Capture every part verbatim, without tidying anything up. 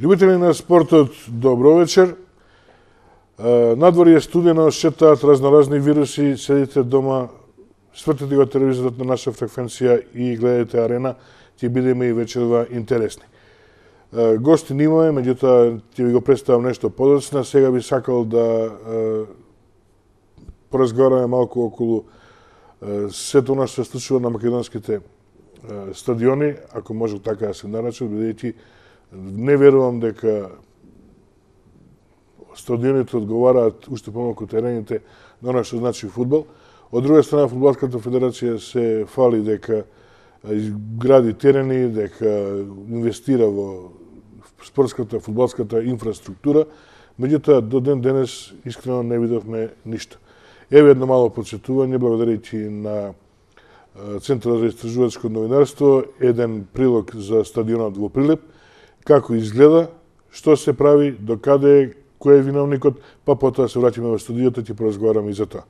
Љубители на спортот, добро вечер. Надвор е студено, шетаат разноразни вируси, седите дома, свртите го телевизорот на наша фреквенција и гледате Арена, ќе бидеме и вечерва интересни. Гости немаме, меѓутоа ќе ви го представам нешто подоцна. Сега би сакал да поразговараме малку околу сето она што се случува на македонските стадиони, ако може така да се наречат, бидејќи не верувам дека стадионите одговараат уште помалку терените на она што значи фудбал. Од друга страна, Фудбалската федерација се фали дека изгради терени, дека инвестира во спортската, фудбалската инфраструктура, меѓутоа до ден денес искрено не видовме ништо. Еве едно мало подсетување, благодарејќи на Центарот за истражувачко новинарство, еден прилог за стадионот во Прилеп, како изгледа, што се прави, докаде е, кој е виновникот, па потоа се враќаме во студиото и ќе поразговараме и за тоа.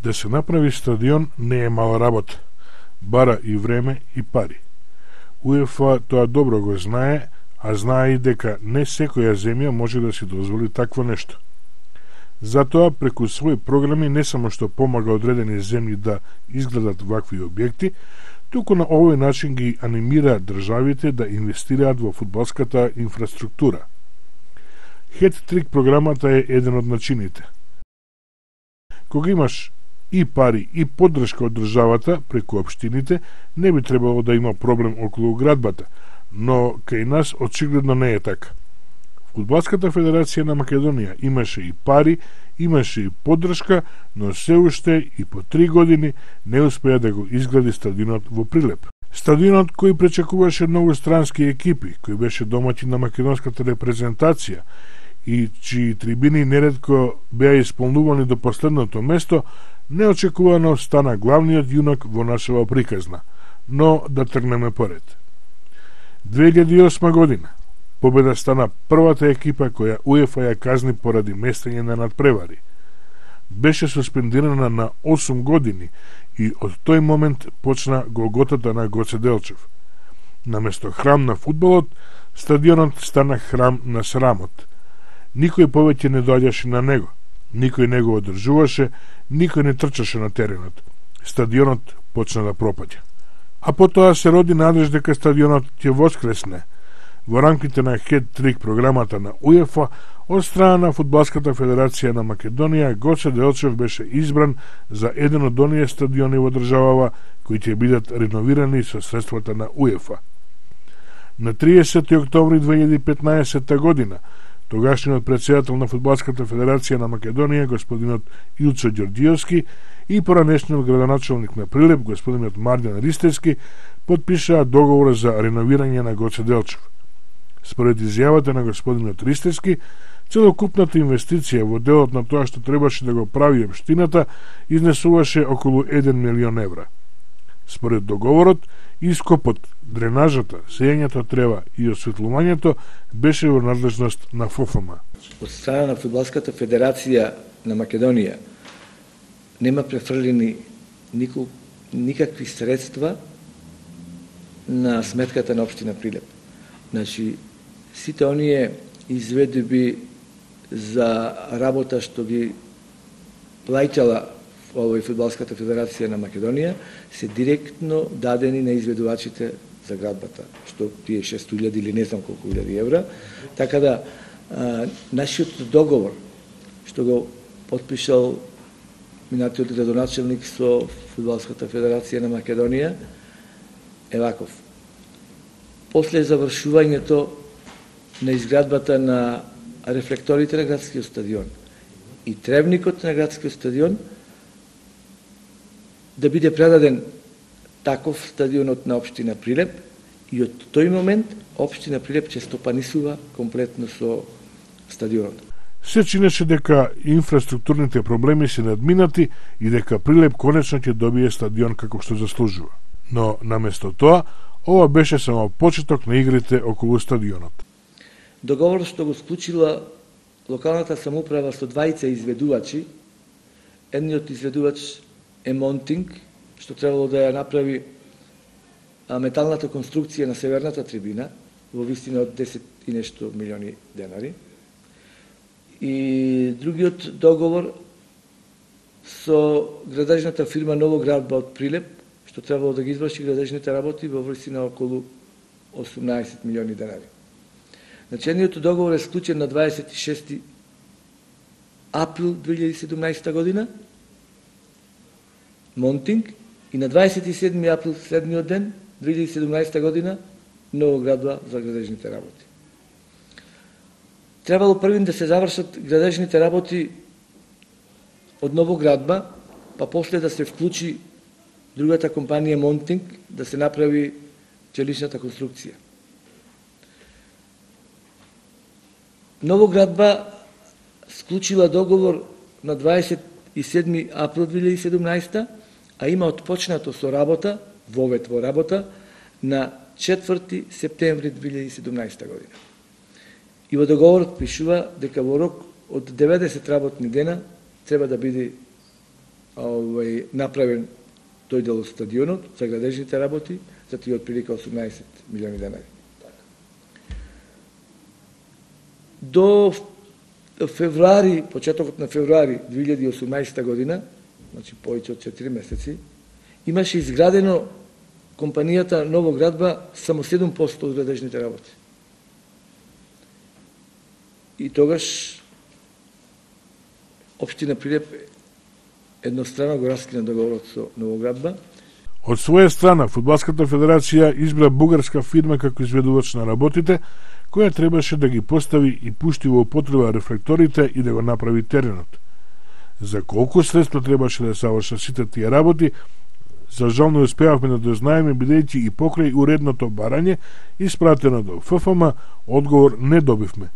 Да се направи стадион не е мала работа. Бара и време и пари. УЕФА тоа добро го знае, а знае и дека не секоја земја може да си дозволи такво нешто. Затоа, преку своји програми не само што помага одредени земји да изградат вакви објекти, туку на овој начин ги анимира државите да инвестираат во фудбалската инфраструктура. Хет-трик програмата е еден од начините. Кога имаш и пари и поддршка од државата преку општините, не би требало да има проблем околу градбата, но кај нас очигледно не е така. Фудбалската федерација на Македонија имаше и пари, имаше и поддршка, но се уште и по три години не успеа да го изгради стадионот во Прилеп. Стадионот кој пречекуваше многу странски екипи, кој беше домаќин на македонската репрезентација и чии трибини неретко беа исполнувани до последното место, неочекувано стана главниот јунак во нашава приказна, но да тргнеме поред. две илјади и осма година победа стана првата екипа која УЕФА ја казни поради местење на надпревари. Беше суспендирана на осум години и од тој момент почна голготата на Гоце Делчев. Наместо храм на фудбалот, стадионот стана храм на срамот. Никој повеќе не доаѓаше на него. Никој не го одржуваше, никој не трчаше на теренот. Стадионот почна да пропаѓа. А потоа се роди надеж дека стадионот ќе воскресне. Во рамките на хет-трик програмата на УЕФА, од страна на Фудбалската федерација на Македонија, Гоце Делчев беше избран за еден од оние стадиони во државава кои ќе бидат реновирани со средствата на УЕФА. На триесети октомври две илјади и петнаесетта година, тогашниот претседател на Фудбалската федерација на Македонија, господинот Илчо Ѓорѓиевски, и поранешниот градоначалник на Прилеп, господинот Марјан Ристевски, подпишаа договор за реновирање на Гоце Делчев. Според изјавата на господинот Ристевски, целокупната инвестиција во делот на тоа што требаше да го прави општината изнесуваше околу еден милион евра. Според договорот, ископот, дренажата, сејањето трева и осветлувањето беше во надлежност на ФОФМ. Од страна на Фудбалската федерација на Македонија нема префрлени никол, никакви средства на сметката на општина Прилеп. Значи, сите оние изведби за работа што ги плаќала овој Фудбалската федерација на Македонија се директно дадени на изведувачите за градбата, што тие шест илјади или не знам колку илјади евра. Така да, а, нашиот договор, што го подпишал минатиот градоначалник со Фудбалската федерација на Македонија, е ваков. После завршувањето на изградбата на рефлекторите на градскиот стадион и тревникот на градскиот стадион, да биде предаден таков стадионот на општина Прилеп и од тој момент општина Прилеп ќе стопанисува комплетно со стадионот. Се чинеше дека инфраструктурните проблеми се надминати и дека Прилеп конечно ќе добие стадион како што заслужува. Но наместо тоа, Ова беше само почеток на игрите околу стадионот. Договор што го склучила локалната самоуправа со двајца изведувачи, едниот изведувач е Монтинг, што требало да ја направи металната конструкција на северната трибина во вистина од десет и нешто милиони денари. И другиот договор со градежната фирма Новоградба од Прилеп, што требало да ги изврши градежните работи во висина околу осумнаесет милиони денари. Значи, едниот договор е склучен на дваесет и шести април две илјади и седумнаесета година, Монтинг, и на дваесет и седми април следниот ден, две илјади и седумнаесета година, Новоградба за градежните работи. Требало првин да се завршат градежните работи од Новоградба, па после да се вклучи другата компанија Монтинг, да се направи челичната конструкција. Новоградба склучила договор на дваесет и седми април две илјади и седумнаесета, а има отпочнато со работа, вовет во работа, на четврти септември две илјади и седумнаесета година. И во договорот пишува дека во рок од деветдесет работни дена треба да биде овај, направен тој дел од стадионот за градежните работи, за тие отприлика осумнаесет милиони денари. До февруари, почетокот на февруари две илјади и осумнаесета година, значи повеќе од четири месеци, имаше изградено компанијата Новоградба само седум проценти од градежните работи. И тогаш општина Прилеп еднострано го раскина договорот со Новоградба. Од своја страна, Фудбалската федерација избра бугарска фирма како изведувач на работите, која требаше да ги постави и пушти во употреба рефлекторите и да го направи теренот. За колку средства требаше да се завршат сите тие работи, за жал не успеавме да дознаеме, бидејќи и покрај уредното барање, испратено до Ф Ф М, одговор не добивме.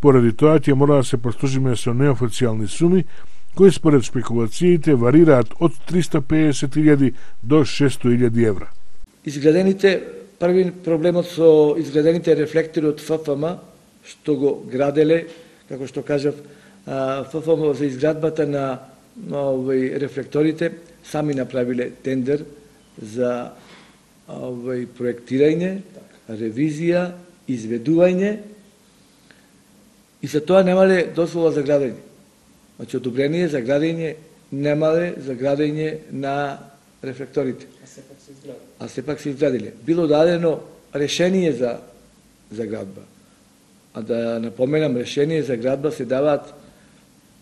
Поради тоа ќе мора да се послужиме со неофицијални суми, кои според спекулациите варираат од триста и педесет илјади до шесто илјади евра. Изградените, први проблемот со изградените рефлектори од Ф Ф М, што го граделе, како што кажав, Ф Ф М за изградбата на, на овој рефлекторите, сами направиле тендер за овој проектирање, ревизија, изведување, и за тоа немале дозвола за градење. Значи, одобрение за градење немале за градење на рефлекторите. А сепак се изградиле. А сепак се изградиле. Било дадено решение за, за градба. А да напоменам, решение за градба се даваат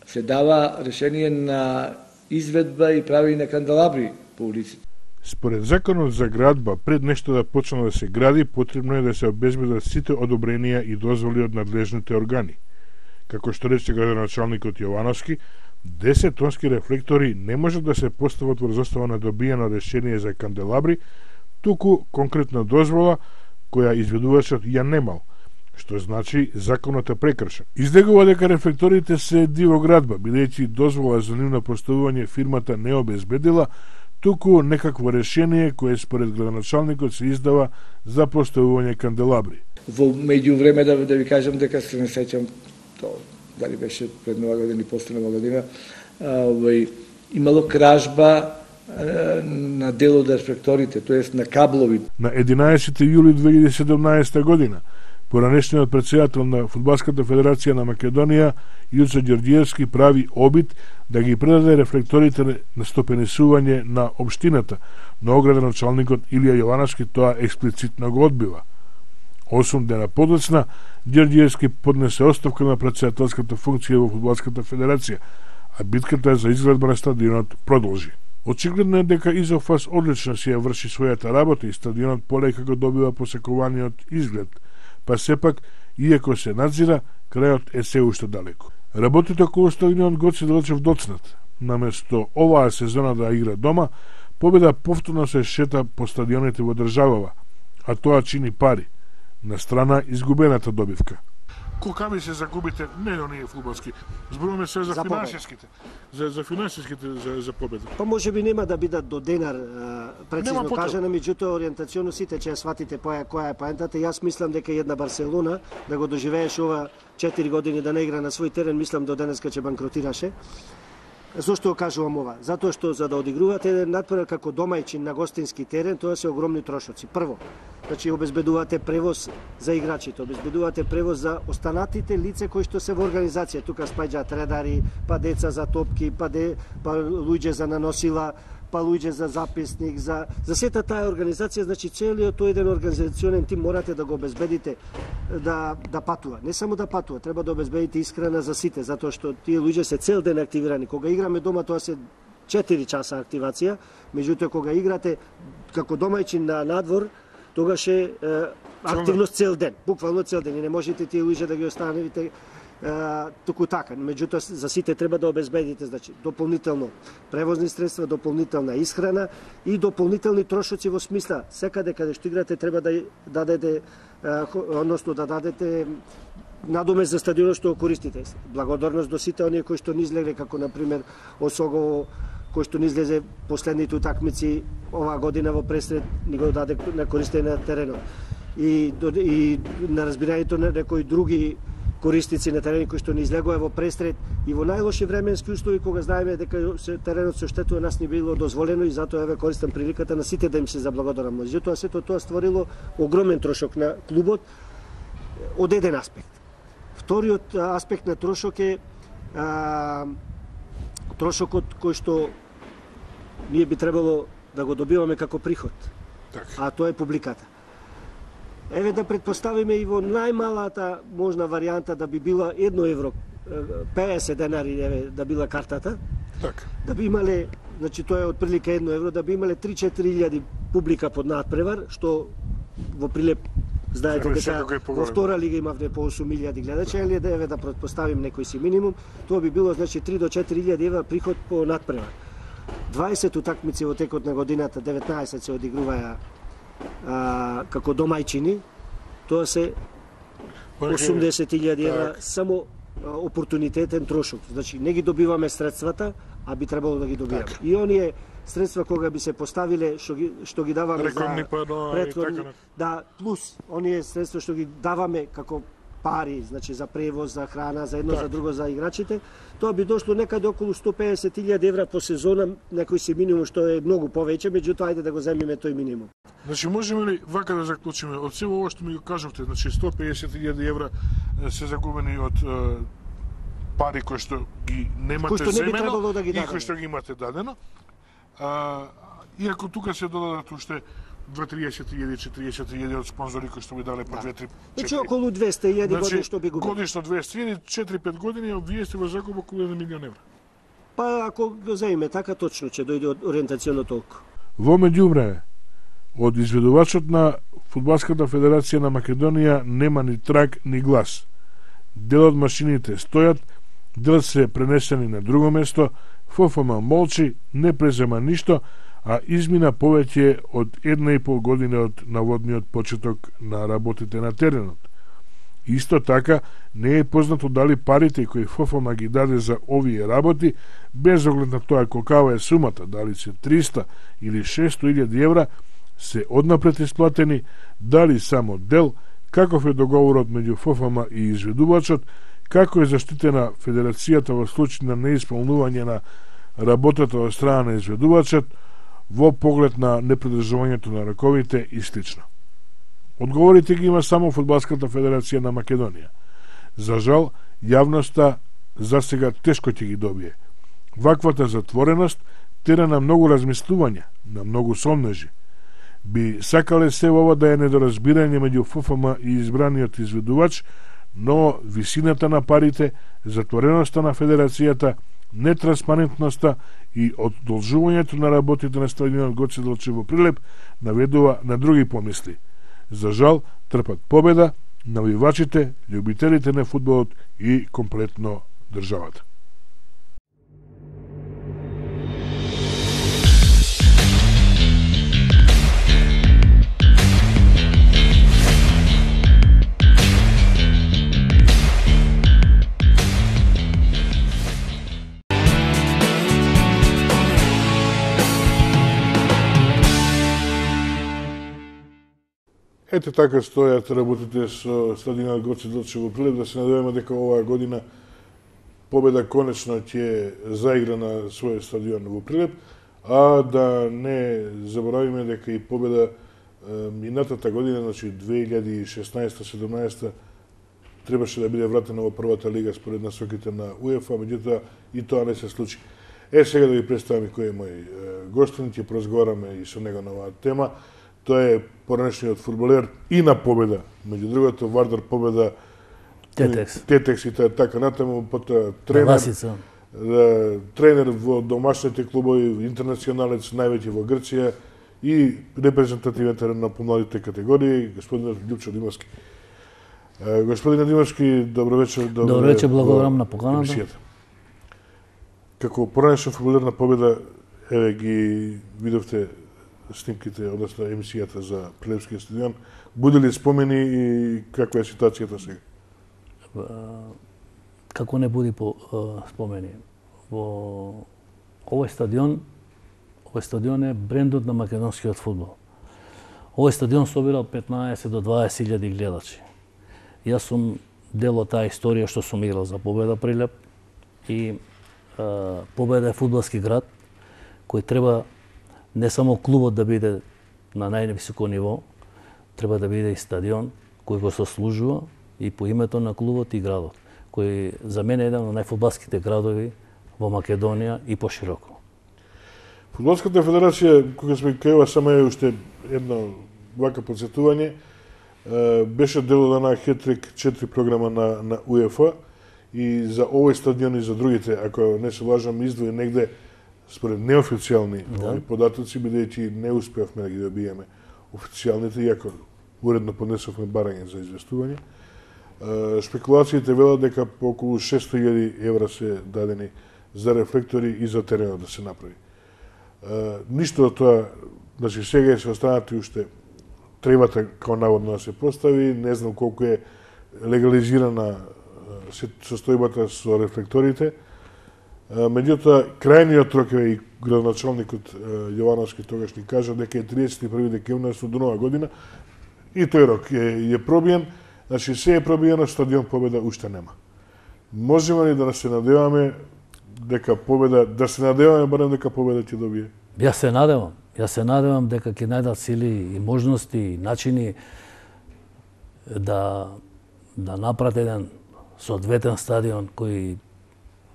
се дава решение на изведба и прави на канделабри по улиците. Според законот за градба, пред нешто да почне да се гради, потребно е да се обезбедат сите одобренија и дозволи од надлежните органи. Како што рече градоначалникот Јовановски, десет тонски рефлектори не можат да се постават врз основа на добиено решение за канделабри, туку конкретна дозвола која изведувачот ја немал, што значи законот е прекршен. Издегува дека рефлекторите се диво градба, бидејќи дозвола за нивно поставување фирмата не обезбедила, туку некакво решение кое според градоначалникот се издава за поставување канделабри. Во меѓувреме да, да ви кажам дека се не сеќам тоа, дали беше пред нова година и после нова година, овој имало кражба на дел од рефлекторите, тоест на каблови. На единаесети јули две илјади и седумнаесета година, поранешниот претседател на Фудбалската федерација на Македонија, Јуцо Ѓорѓиевски, прави обид да ги предаде рефлекторите на стопенисување на општината, но градоначалникот Илија Јовановски тоа експлицитно го одбива. Осум дена подоцна, Ѓорѓиевски поднесе оставка на претседателската функција во Фудбалската федерација, а битката за изградба на стадионот продолжи. Очигледно е дека Изофас одлично си ја врши својата работа и стадионот полека го добива посекуваниот изглед, па сепак, иако се надзира, крајот е се уште далеко. Работите околу стадионот Гоце Делчев доцнат. Наместо оваа сезона да игра дома, Победа повторно се шета по стадионите во државава, а тоа чини пари, на страна изгубената добивка. Колкави се загубите, не оние фудбалски, зборуваме се за, за финансиските, за, за финансиските, за, за победа. Па може би нема да бидат до денар прецизно кажано, меѓутоа ориентационо сите ќе сватите која која е поентата. Јас мислам дека една Барселона да го доживееш ова четири години да не игра на свој терен, мислам до денеска ќе банкротираше. Зошто кажувам ова? Затоа што за да одигрувате еден натпревар како домајчин на гостински терен, тоа се огромни трошоци. Прво, значи обезбедувате превоз за играчите, обезбедувате превоз за останатите лице кои што се во организација. Тука спаѓаат редари, па деца за топки, па де, па луѓе за наносила, па луѓе за записник, за за сета таа организација, значи целиот тој еден организационен тим морате да го обезбедите да да патува. Не само да патува, треба да обезбедите исхрана за сите, затоа што тие луѓе се цел ден активирани. Кога играме дома тоа се четири часа активација, меѓутоа кога играте како домајчин на надвор, тогаш е, е активност цел ден, буквално цел ден и не можете тие луѓе да ги оставите туку така. Меѓутоа за сите треба да обезбедите, значи дополнително превозни средства, дополнителна исхрана и дополнителни трошоци во смисла секаде каде што играте треба да дадете, односно да дадете надоме за стадионот што го користите. Благодарност до сите оние кои што ни излегле, како на пример Осогово, кој што ни излезе последните утакмици оваа година во пресред, ни го даде на користење на теренот. И, и на разбирањето на некои други користици на терени кои што ни излегува во пресред и во најлоши временски услови кога знаеме дека се теренот се оштетува, нас не било дозволено и затоа еве користам приликата на сите да им се заблагодарам. Меѓутоа сето тоа створило огромен трошок на клубот од еден аспект. Вториот аспект на трошок е а, трошокот кој што ние би требало да го добиваме како приход. Так. А тоа е публиката. Еве да предпоставиме и во најмалата можна варијанта да би била едно евро, педесет денари, еве, да била картата. Так. Да би имале, значи тоа е отприлика едно евро, да би имале три-четири илјади публика под надпревар, што во Прилеп знаете дека во втора лига имавме по осум илјади гледачи, или да еве да предпоставим некој си минимум, тоа би било значи три до четири илјади евра приход по надпревар. дваесет утакмици во текот на годината, деветнаесет се одигруваја А, како домајчини, тоа се осумдесет илјади евра само а, опортунитетен трошок. Значи не ги добиваме средствата, а би требало да ги добиваме. Так. И оние средства кога би се поставиле што ги што ги даваме Рекордни за претходни, да, плюс оние средства што ги даваме како пари, значи за превоз, за храна, за едно, так. За друго, за играчите, тоа би дошло некаде околу сто педесет илјади евра по сезона, некој си минимум што е многу повеќе, меѓутоа ајде да го земиме тој минимум. Значи можеме ли вака да заклучиме од сето ова што ми го кажавте, значи сто педесет илјади евра се загубени од е, пари кои што ги немате кој што не би земено да ги и кои што ги имате дадено. А, иако тука се додадат уште дваесет илјади, четиридесет илјади од спонзори кои што би дале по две-три. Значи околу двесте илјади значи, години што би губили. Годишно двесте илјади, четири-пет години, а вие сте во загуба околу еден милион евра. Па ако го земиме така точно ќе дојде ориентационо толку. Во меѓувреме, од изведувачот на Фудбалската федерација на Македонија нема ни траг ни глас. Дел од машините стојат, дел се пренесени на друго место, ФФМ молчи, не презема ништо, а измина повеќе од една и пол година од наводниот почеток на работите на теренот. Исто така, не е познато дали парите кои ФФМ ги даде за овие работи, без оглед на тоа колкава е сумата, дали се триста или шесто илјади евра, се однапред исплатени, дали само дел, каков е договорот меѓу ФФМ и изведувачот, како е заштитена федерацијата во случај на неисполнување на работата од страна на изведувачот, во поглед на непридржувањето на раковите и слично. Одговорите ги има само Фудбалската федерација на Македонија. За жал, јавноста за сега тешко ќе ги добие. Ваквата затвореност тера на многу размислувања, на многу сомнежи. Би сакале се ова да е недоразбирање меѓу ФФМ и избраниот изведувач, но висината на парите, затвореноста на федерацијата, нетранспарентноста и одолжувањето на работите на стадионот Гоце Делчев во Прилеп наведува на други помисли. За жал, трпат победа навивачите, љубителите на фудбалот и комплетно државата. Ете така стојат работите со стадионот Гоце Делчев во Прилеп, да се надеваме дека оваа година Победа конечно ќе заигра на својот стадион во Прилеп, а да не заборавиме дека и Победа минатата година, значи две илјади и шеснаесета седумнаесета, требаше да биде вратена во првата лига според насоките на УЕФА, меѓутоа и тоа не се случи. Е, сега да ви представам кој е мој гостин, ќе поразговараме и со него на оваа тема. Тоа е поранешниот фудбалер и на Победа, меѓу другото Вардар Победа, Тетекс. Тетекс и така натаму, потоа тренер, тренер во домашните клубови, интернационалец, највеќе во Грција и репрезентативен терен на помладите категории, господинот Љупчо Димовски. Господине Димовски, добро вечер. Добро вечер, благодарам на поканата. Како поранешен фудбалер на Победа, еве ги видовте снимките, односно емисијата за Прилепскиот стадион. Буди ли спомени и каква е ситуацијата сега? Како не буди по спомени. Во овој стадион, овој стадион е брендот на македонскиот фудбал. Овој стадион собира петнаесет до дваесет илјади гледачи. Јас сум дел од таа историја што сум играл за Победа Прилеп и а, Победа е фудбалски град кој треба не само клубот да биде на највисоко ниво, треба да биде и стадион кој го сослужува и по името на клубот и градот, кој за мене е еден од најфудбалските градови во Македонија и пошироко. Фудбалската федерација, кога сме кајува само е уште едно вака подсетување, беше дел од една хетрик четири програма на, на УЕФА и за овој стадион и за другите, ако не се лажам, издвои негде според неофицијални да. податоци, бидејќи не успеавме да ги добиеме официјалните, иако уредно поднесовме барање за известување. Спекулациите велат дека по околу шесто илјади евра се дадени за рефлектори и за теренот да се направи. Ништо од тоа, значи сега се останати уште требата као наводно да се постави, не знам колку е легализирана состојбата со рефлекторите. Меѓутоа, крајниот рок и градоначалникот Јовановски тогаш ни кажа дека е триесет и први декември со нова година и тој рок е, е пробиен. Значи, се е пробиено, стадион Победа уште нема. Можеме ли да се надеваме дека Победа, да се надеваме барем дека Победа ќе добие? Јас се надевам. Јас се надевам дека ќе најдат сили и можности и начини да да направат еден соодветен стадион кој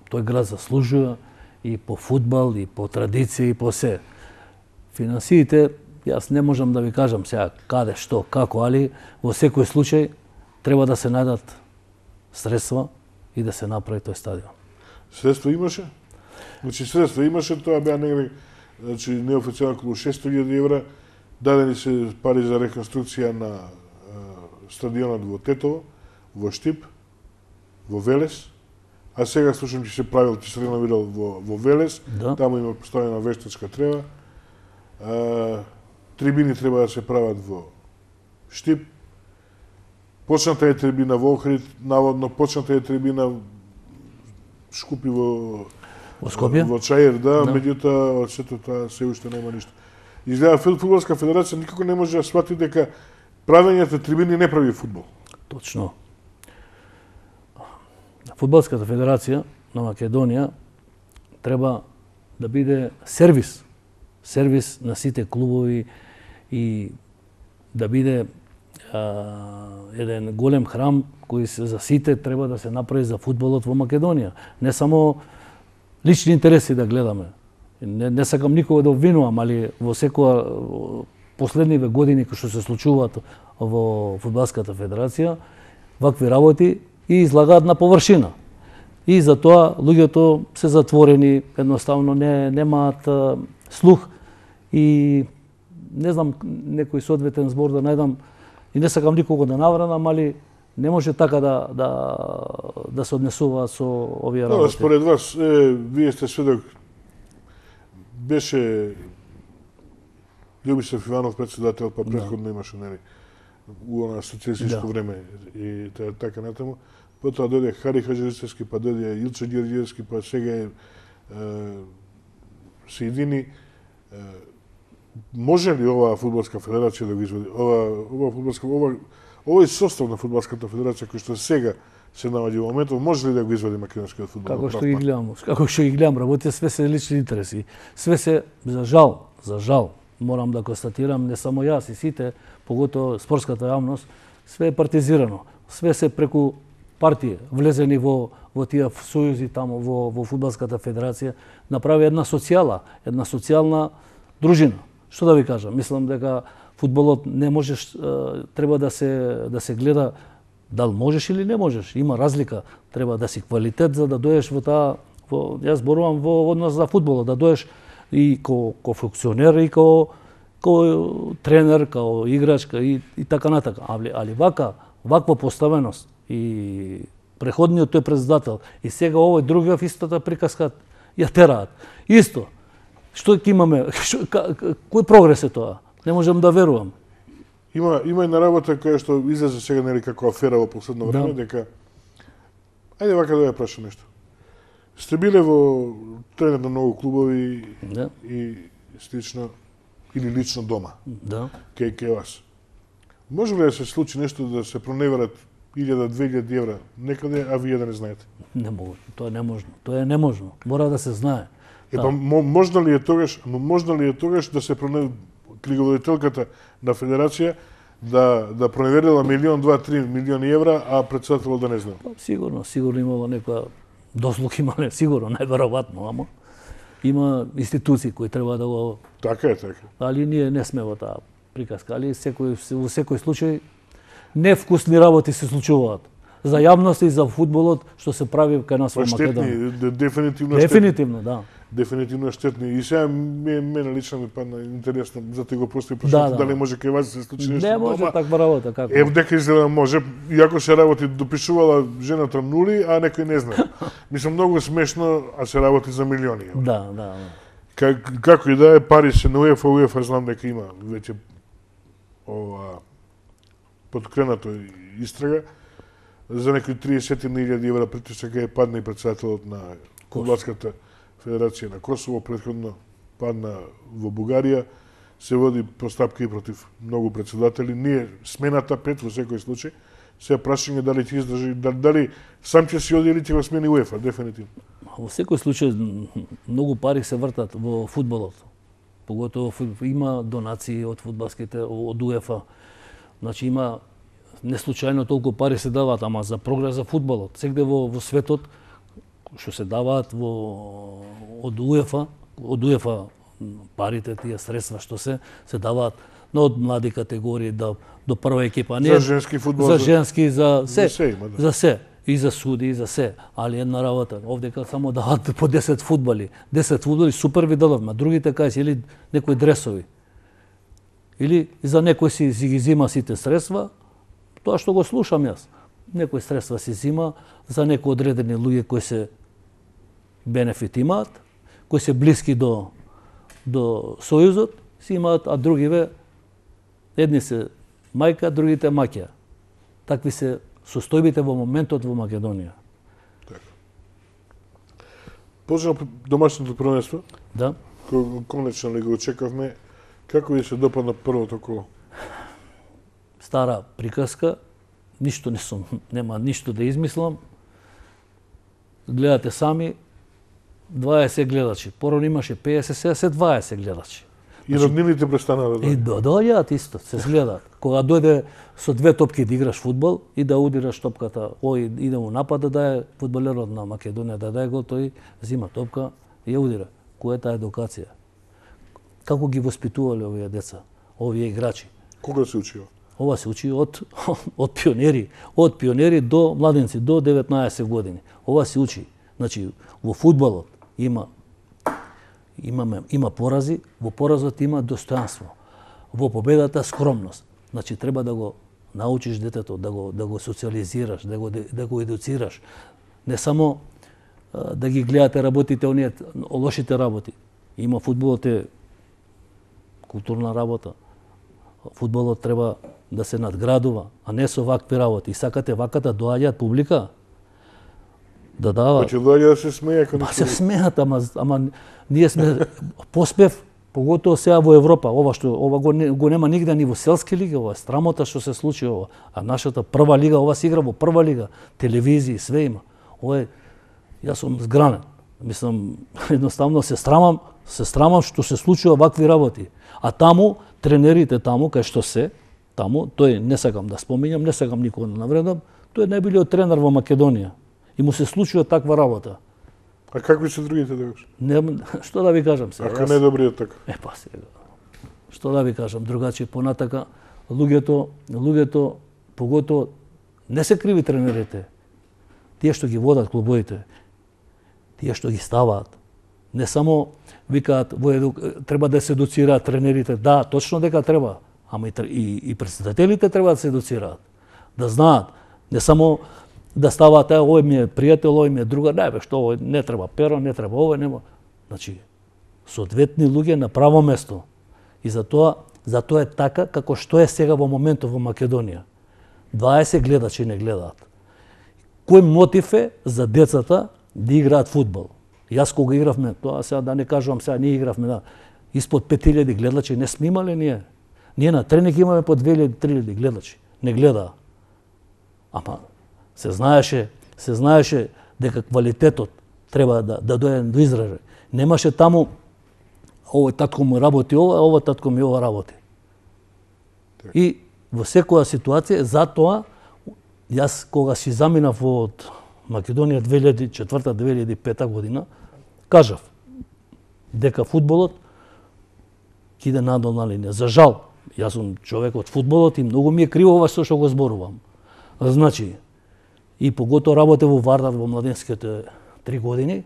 тој град заслужува и по фудбал, и по традиција, и по се. Финансиите, јас не можам да ви кажам сега каде, што, како, али во секој случај треба да се најдат средства и да се направи тој стадион. Средства имаше? Значи средства имаше, тоа беа негде, значи неофицијално околу шесто илјади евра, дадени се пари за реконструкција на е, стадионот во Тетово, во Штип, во Велес, а сега слушам че се правил, че се реновирал во, во Велес, да. Таму има поставена вештачка трева, е, трибини треба да се прават во Штип, почната е трибина во Охрид, наводно почната е трибина Шкупи во во Скопје, во Чаир, да, да. Меѓутоа од сето тоа се уште нема ништо. Изгледа фудбалска федерација никако не може да свати дека правењето трибини не прави фудбал. Точно. Фудбалската федерација на Македонија треба да биде сервис, сервис на сите клубови и да биде а, еден голем храм кој се за сите треба да се направи за фудбалот во Македонија. Не само лични интереси да гледаме. Не, не сакам никога да обвинувам, али во секоја последниве години кои што се случуваат во фудбалската федерација, вакви работи и излагаат на површина. И затоа луѓето се затворени, едноставно не немаат а, слух и не знам некој соодветен збор да најдам и не сакам никого да навранам, али не може така да да да се однесува со овие работи. Да, според вас, е, вие сте сведок, беше Љубисав Иванов председател, па претходно да. Имаше нели у она социјалистичко да. Време и така натаму. Потоа дојде Хари Хаџилицевски, па дојде Илче Ѓорѓиевски, па сега е, е се едини. Е, може ли оваа фудбалска федерација да го извади? Ова, ова фудбалска, ова, овој состав на фудбалската федерација кој што сега се наоѓа во моментот, може ли да го извади македонскиот фудбал? Како што ги гледам, како што ги гледам, работите све се лични интереси. Све се, за жал, за жал, морам да констатирам, не само јас и сите, поготово спортската јавност, све е партизирано. Све се преку партија, влезени во во тие сојузи таму во во фудбалската федерација, направи една социјала, една социјална дружина. Што да ви кажам, мислам дека фудбалот не можеш, треба да се да се гледа дал можеш или не можеш. Има разлика, треба да си квалитет за да доеш во таа во јас зборувам во однос за фудбалот, да доеш и ко ко функционер и ко ко тренер, ко играч и, и така натака. Али, али вака, ваква поставеност и преходниот тој председател и сега овој другиот истата приказка ја тераат. Исто. Што ќе имаме? Шо, кој прогрес е тоа? Не можам да верувам. Има има една работа која што излезе сега нели како афера во последно време, Да. дека ајде вака да ја прашам нешто. Сте биле во тренер на многу клубови Да. и слично или лично дома Да. кај кај вас. Може ли да се случи нешто да се проневерат илјада две илјади евра некаде, а вие да не знаете? Не могу. Тоа е неможно. Тоа е неможно. Мора да се знае. Е, па, мо- можно ли е тогаш, но можно ли е тогаш да се проне книговодителката на федерација да да проверила милион, два, три милиони евра, а председателот да не знае? Па, сигурно, сигурно имало некоја дослуг имале, сигурно, најверојатно, ама има институции кои треба да го... Така е, така. Али ние не сме во таа приказка, али секој, во секој случај невкусни работи се случуваат. За јавност и за фудбалот што се прави кај нас во Па штетни, Македонија. де- дефинитивно штетни. Дефинитивно, да. Дефинитивно штетни. И сега ме, мене лично ми падна интересно, затоа го постои Да, прашање да. дали може кај вас да се случи нешто. Не може дома. таква работа, како? Е, дека изгледа може, иако се работи, допишувала жената нули, а некој не знае. Мислам, многу смешно, а се работи за милиони. евра. Да, да, да. Как, како и да е, пари се на УЕФА, УЕФА знам дека има веќе ова подкренато истрага за некои триесет илјади евра притисок е падна и председателот на Фудбалската федерација на Косово, претходно падна во Бугарија, се води постапка и против многу председатели. Ние смената пет во секој случај, се прашање дали ќе издржи, дали, дали сам ќе си оди или ќе го смени УЕФА, дефинитивно. Во секој случај многу пари се вртат во фудбалот. Поготово има донации од фудбалските од УЕФА. Значи има не случајно толку пари се даваат, ама за прогрес за фудбалот. Сегде во во светот што се даваат во од УЕФА, од УЕФА парите тие средства што се се даваат но од млади категории до до прва екипа, не За женски фудбал, за за- женски, за се, за се има, да. за се, и за суди, и за се, али една работа. Овдека само дават по десет фудбали. десет фудбали супер ви дадовме, другите кај се или некои дресови. Или за некој си, си ги зима сите средства, тоа што го слушам јас. Некои средства си зима за некои одредени луѓе кои се бенефит имаат, кои се блиски до до сојузот, си имаат, а другиве едни се мајка, другите маќа. Такви се состојбите во моментот во Македонија. Почнемо домашното првенство, Да. кој конечно ли го очекавме. Како ви се допадна првото коло? Стара приказка, ништо не сум, нема ништо да измислам. Гледате сами, дваесет гледачи. Порано имаше песет, сега се дваесет гледачи. И роднините престанаа да И доаѓаат. до- доаѓаат исто, се гледаат. Кога дојде со две топки да играш фудбал и да удираш топката, ој иде му напад да е фудбалерот на Македонија да даде гол, тој зима топка и ја удира. Која е таа едукација? Како ги воспитувале овие деца, овие играчи? Кога се учио? Ова се учи од од пионери, од пионери до младенци до деветнаесет години. Ова се учи. Значи во фудбалот има имаме има порази, во поразот има достојанство. Во победата скромност. Значи треба да го научиш детето, да го да го социализираш, да го да го едуцираш. Не само а, да ги гледате работите оние лошите работи. Има фудбалот е културна работа. Фудбалот треба да се надградува, а не со вакви работи. И сакате вака да доаѓаат публика, да даваат. Па ќе доаѓа да се смее кога Па се смеат, ама, ама ние сме поспев, Поготово сега во Европа, ова што ова го, не, го нема нигде ни во селски лиги, ова е срамота што се случи ова. А нашата прва лига, ова се игра во прва лига, телевизија, све има. Ова е, јас сум згранен. Мислам, едноставно се срамам, се срамам што се случува вакви работи. А таму, тренерите таму, кај што се, таму, тој не сакам да споминјам, не сакам никога да навредам, тој е најбилиот тренер во Македонија. И му се случува таква работа. А какви се другите тогаш? Не, што да ви кажам сега? Ако не е добриот така. Е, па сега. Што да ви кажам, другачи понатака, луѓето, луѓето, поготово, не се криви тренерите. Тие што ги водат клубовите, тие што ги ставаат. Не само викаат, во еду, треба да се едуцираат тренерите. Да, точно дека треба. Ама и, и, и председателите треба да се едуцираат. Да знаат. Не само да ставаат, е, овој ми е пријател, овој ми е друга, не бе, што овој не треба перо, не треба овој, нема. Значи, соодветни луѓе на право место. И затоа, затоа е така како што е сега во моментот во Македонија. дваесет гледачи не гледаат. Кој мотив е за децата да играат фудбал? Јас кога игравме, тоа сега да не кажувам, сега ние игравме, да, испод пет илјади гледачи не сме имале ние. Ние на тренинг имаме по две илјади три илјади гледачи. Не гледаа. Ама се знаеше, се знаеше дека квалитетот треба да да дојде до изражај. Немаше таму овој татко му работи ова, ова татко ми ова работи. И во секоја ситуација, затоа јас кога си заминав од Македонија две илјади и четврта две илјади и пета година, кажав дека фудбалот ќе иде надолна линија. За жал, јас сум човек од фудбалот и многу ми е криво ова што го зборувам. Значи, и поготово работев во Вардар во младенските три години,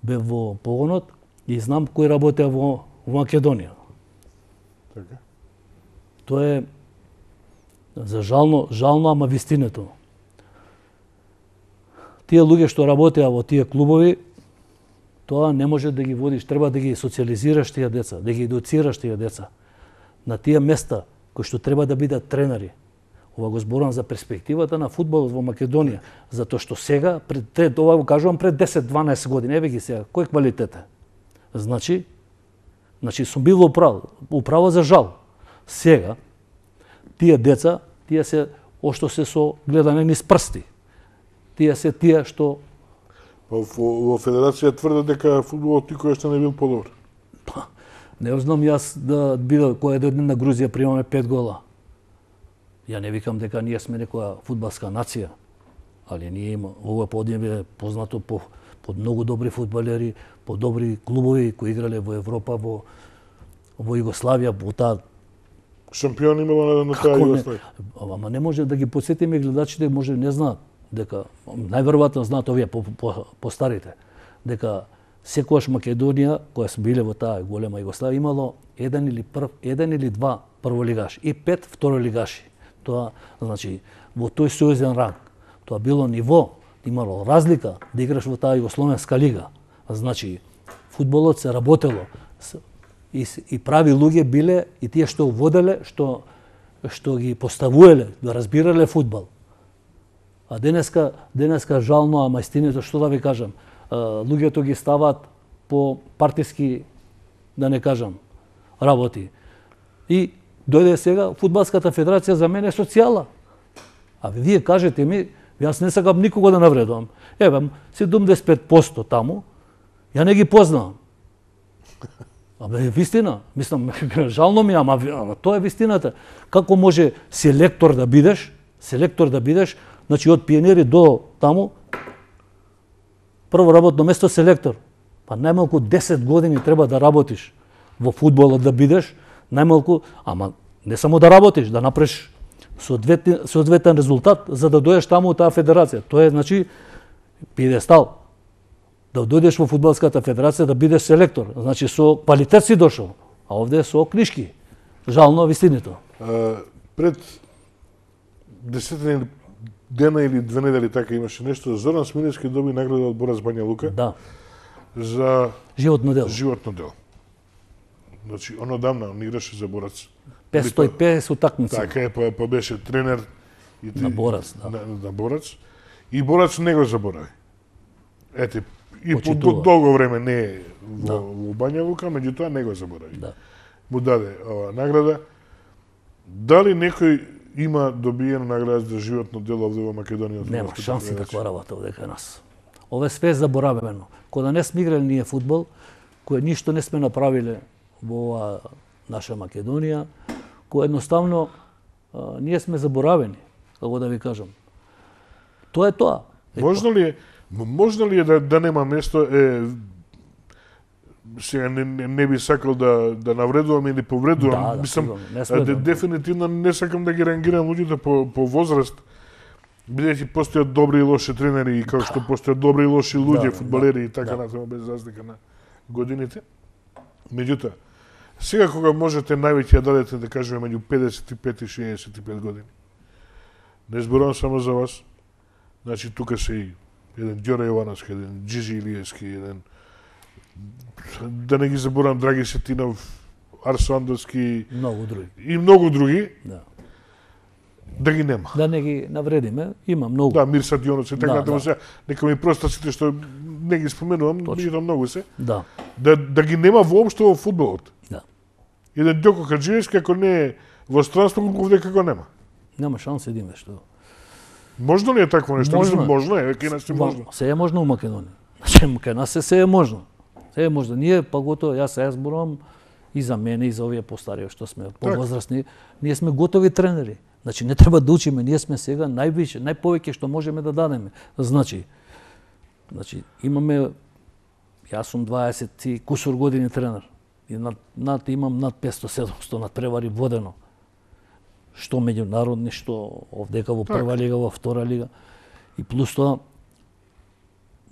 бев во погонот и знам кој работеа во, во Македонија. Така. Тоа е за жално, жално, ама вистинето. Тие луѓе што работеа во тие клубови, тоа не може да ги водиш, треба да ги социализираш тие деца, да ги едуцираш тие деца на тие места кои што треба да бидат тренери. Ова го зборувам за перспективата на фудбалот во Македонија, затоа што сега пред ова го кажувам пред десет дванаесет години, еве ги сега, кој квалитет е? Значи, значи сум бил управо, управо за жал. Сега тие деца, тие се ошто се со гледане низ прсти. Тие се тие што Во, во федерација тврдат дека фудбалот никој што не бил подобар. Па, не знам јас да биде која да на Грузија примаме пет гола. Ја не викам дека ние сме некоја фудбалска нација, али ние има ова поднебе познато по под многу добри фудбалери, по добри клубови кои играле во Европа, во во Југославија, во таа Шампион имало на, на таа Југославија. Ама не може да ги потсетиме гледачите, може не знаат дека најверојатно знаат овие по, по, по старите дека секогаш Македонија која се биле во таа голема Југославија имало еден или прв, еден или два прволигаши и пет второлигаши. Тоа значи во тој сојузен ранг. Тоа било ниво, имало разлика да играш во таа Југословенска лига. Значи фудбалот се работело и, и прави луѓе биле и тие што воделе, што што ги поставувале, да разбирале фудбал. А денеска, денеска жално, ама истината, што да ви кажам, луѓето ги ставаат по партиски, да не кажам, работи. И дојде сега, фудбалската федерација за мене е социјала. А вие кажете ми, јас не сакам никого да навредувам. Еве, седумдесет и пет проценти таму, ја не ги познавам. Абе, вистина, мислам, жално ми, ама, ама тоа е вистината. Како може селектор да бидеш, селектор да бидеш, значи од пионери до таму, прво работно место селектор. Па најмалку десет години треба да работиш во фудбалот да бидеш, најмалку, ама не само да работиш, да направиш соодветен, соодветен резултат за да дојдеш таму таа федерација. Тоа е, значи, пиедестал. Да дојдеш во фудбалската федерација да бидеш селектор. Значи со квалитет си дошол, а овде со книшки. Жално вистинито. А, пред десетина дена или две недели така имаше нешто, Зоран Смилевски доби награда од Борац Бања Лука. Да. За животно дело. Животно дело. Значи, он одамна он играше за Борац. петстотини и педесет утакмици. Така е, па, па беше тренер и на Борац, да. На, на Борац. И Борац не го заборави. Ете, и по почитува. долго време не е во, Да. во Бања Лука, меѓутоа не го заборави. Да. Му даде ова награда. Дали некој има добиена награда за животно дело овде во Македонија? Нема шанси таква работа овде кај нас. Ова е све заборавено. Кога не сме играли ние фудбал, кој ништо не сме направиле во ова наша Македонија, кој едноставно а, ние сме заборавени, како да ви кажам. Тоа е тоа. Е, Можно ли е, можно ли е да, да нема место, е, сега не, не, не би сакал да, да навредувам или повредувам, Да, да, мислам, сигурно, не сме де, да- дефинитивно не сакам да ги рангирам луѓето по, по возраст, бидејќи постојат добри и лоши тренери и како што постојат добри и лоши луѓе, Да, фудбалери да, и така да. натаму без разлика на годините. Меѓутоа, сега кога можете највеќе ја дадете, да кажеме, меѓу педесет и пет и шеесет и пет години, не зборувам само за вас, значи тука се и еден Ѓоре Јовановски, еден Џиџи Илиевски, еден, да не ги заборам, Драги Сетинов, Арсо Андовски многу други. и многу други, Да. да ги нема. Да не ги навредиме, има многу. Да, Мирса Дионовски, така Да, натаму да. сега, нека ми проста сите што не ги споменувам, Точно. меѓутоа многу се, Да. да, да ги нема воопшто во фудбалот. Да. Еден Ѓоко Хаџиевски, ако не е во странство, овде како нема. Нема шанси да има што. Можно ли е такво нешто? Можно. Мислам, можно е, кај нас е можно. Се е можно у Македонија. Значи, кај нас се, се е можно. Се е можно. Ние, пагото, јас се зборувам и за мене, и за овие постари, што сме повозрастни, ние сме готови тренери. Значи, не треба да учиме, ние сме сега највише, најповеќе што можеме да дадеме. Значи, значи имаме, јас сум дваесет и кусур години тренер. И над, над имам над петсто седумсто надпревари водено. Што меѓународни, што овдека во прва лига, во втора лига. И плюс тоа,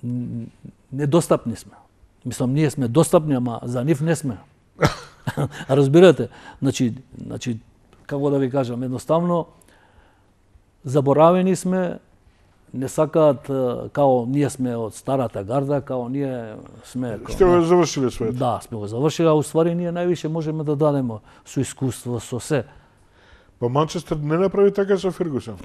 н- недостапни сме. Мислам, ние сме достапни, ама за нив не сме. Разбирате? Значи, значи, како да ви кажам, едноставно, заборавени сме, не сакаат, е, као ние сме од старата гарда, као ние сме... као, Сте го завршиле своето. Да, сме го завршили, а уствари ние највише можеме да дадеме со искуство, со се. Па Манчестер не направи така со Фергусон.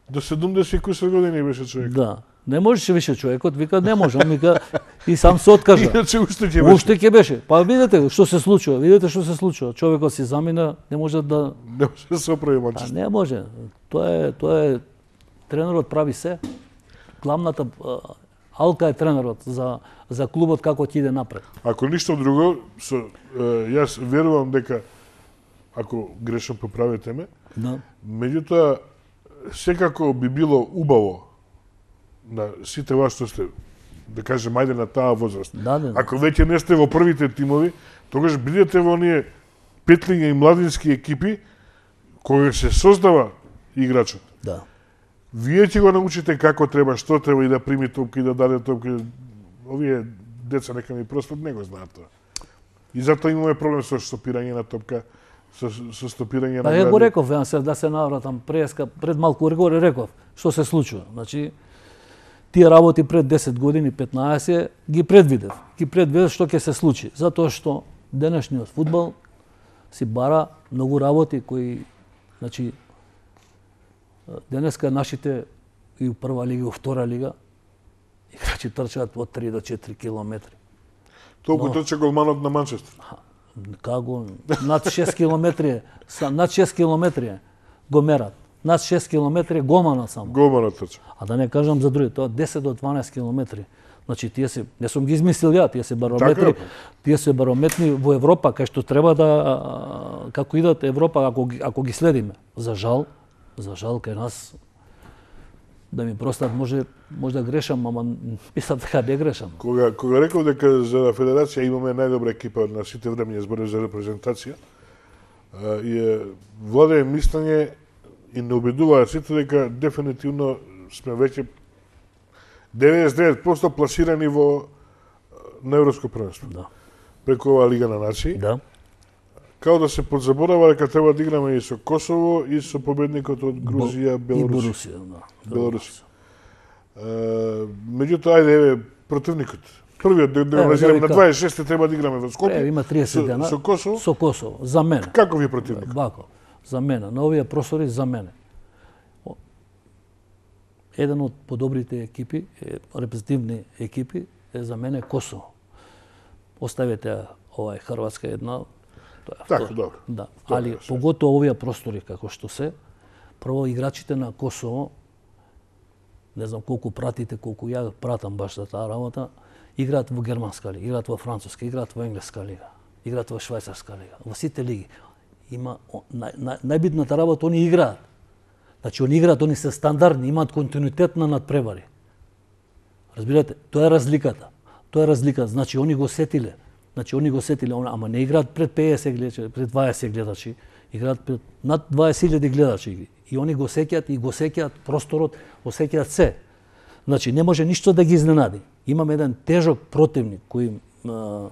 До седумдесет и кусур години беше човек. Да. Не можеше више човекот, вика не можам, вика и сам се откажа. Иначе уште ќе беше. Уште ќе беше. Па видете што се случува, видете што се случува. Човекот си замина, не може да Не може да се оправи а Манчестер. не може. Тоа е тоа е тренерот прави се. Главната а, алка е тренерот за за клубот како ќе иде напред. Ако ништо друго, со, е, јас верувам дека, ако грешам поправете ме, Да. меѓутоа, секако би било убаво на сите вас што сте, да кажем, ајде на таа возраст. Да, да, да. Ако веќе не сте во првите тимови, тогаш бидете во оние петлиња и младински екипи, кога се создава играчот. Да. Вие ќе го научите како треба, што треба и да прими топка и да даде топка. Овие деца нека ми проспат не го знаат тоа. И затоа имаме проблем со стопирање на топка, со, со стопирање Па на ја го гради. реков, ја се да се навратам преска пред малку го реков што се случува. Значи тие работи пред десет години, петнаесет ги предвидев. Ги предвидев што ќе се случи, затоа што денешниот фудбал си бара многу работи кои, значи, денеска нашите и у прва лига, и у втора лига, играчи трчаат од три до четири километри. Толку Но- трча голманот на Манчестер. Како над шест километри, е, са- над шест километри е, го мерат. Над шест километри е голманот само. Голманот трча. А да не кажам за други, тоа десет до дванаесет километри. Значи тие се, не сум ги измислил ја, тие се барометри, Така е. тие се барометни во Европа, кај што треба да а, како идат Европа ако ги, ако ги следиме. За жал, за жал кај нас да ми простат, може може да грешам, ама мислам дека не грешам. Кога, кога реков дека за федерација имаме најдобра екипа на сите времења зборев за репрезентација, а, и е, владее мислење и не убедуваат сите дека дефинитивно сме веќе деветдесет и девет проценти пласирани во на Европско првенство. Да. Преку оваа Лига на нации. Да. Као да се подзаборава дека треба да играме и со Косово и со победникот од Грузија, И Белорусија. Борусија, да. Белорусија. Е, меѓутоа, ајде, еве, противникот. Првиот, да, да Еве, го да ви назираме на кажам. дваесет и шесте треба да играме во Е, Скопје. има триесет со, дена. со Косово. Со Косово, за мене. Каков е противник? Вако, за мене, на овие просори за мене. О, Еден од подобрите екипи, е, репрезентативни екипи, е за мене Косово. Оставете овај Хрватска една, тоа е Така, втора. добро. Да, Тоа али е, поготово овие простори како што се, прво играчите на Косово, не знам колку пратите, колку ја пратам баш за таа работа, играат во германска лига, играат во француска, играат во енглеска лига, играат во швајцарска лига, во сите лиги. Има нај, нај, најбитната работа, они играат. Значи они играат, они се стандардни, имаат континуитет на надпревари. Разбирате, тоа е разликата. Тоа е разлика, значи они го сетиле. Значи они го сетиле, ама не играат пред петдесет гледачи, пред дваесет гледачи, играат пред над дваесет илјади гледачи. И они го сеќаат и го сеќаат просторот, го сеќаат се. Значи не може ништо да ги изненади. Имаме еден тежок противник кој а,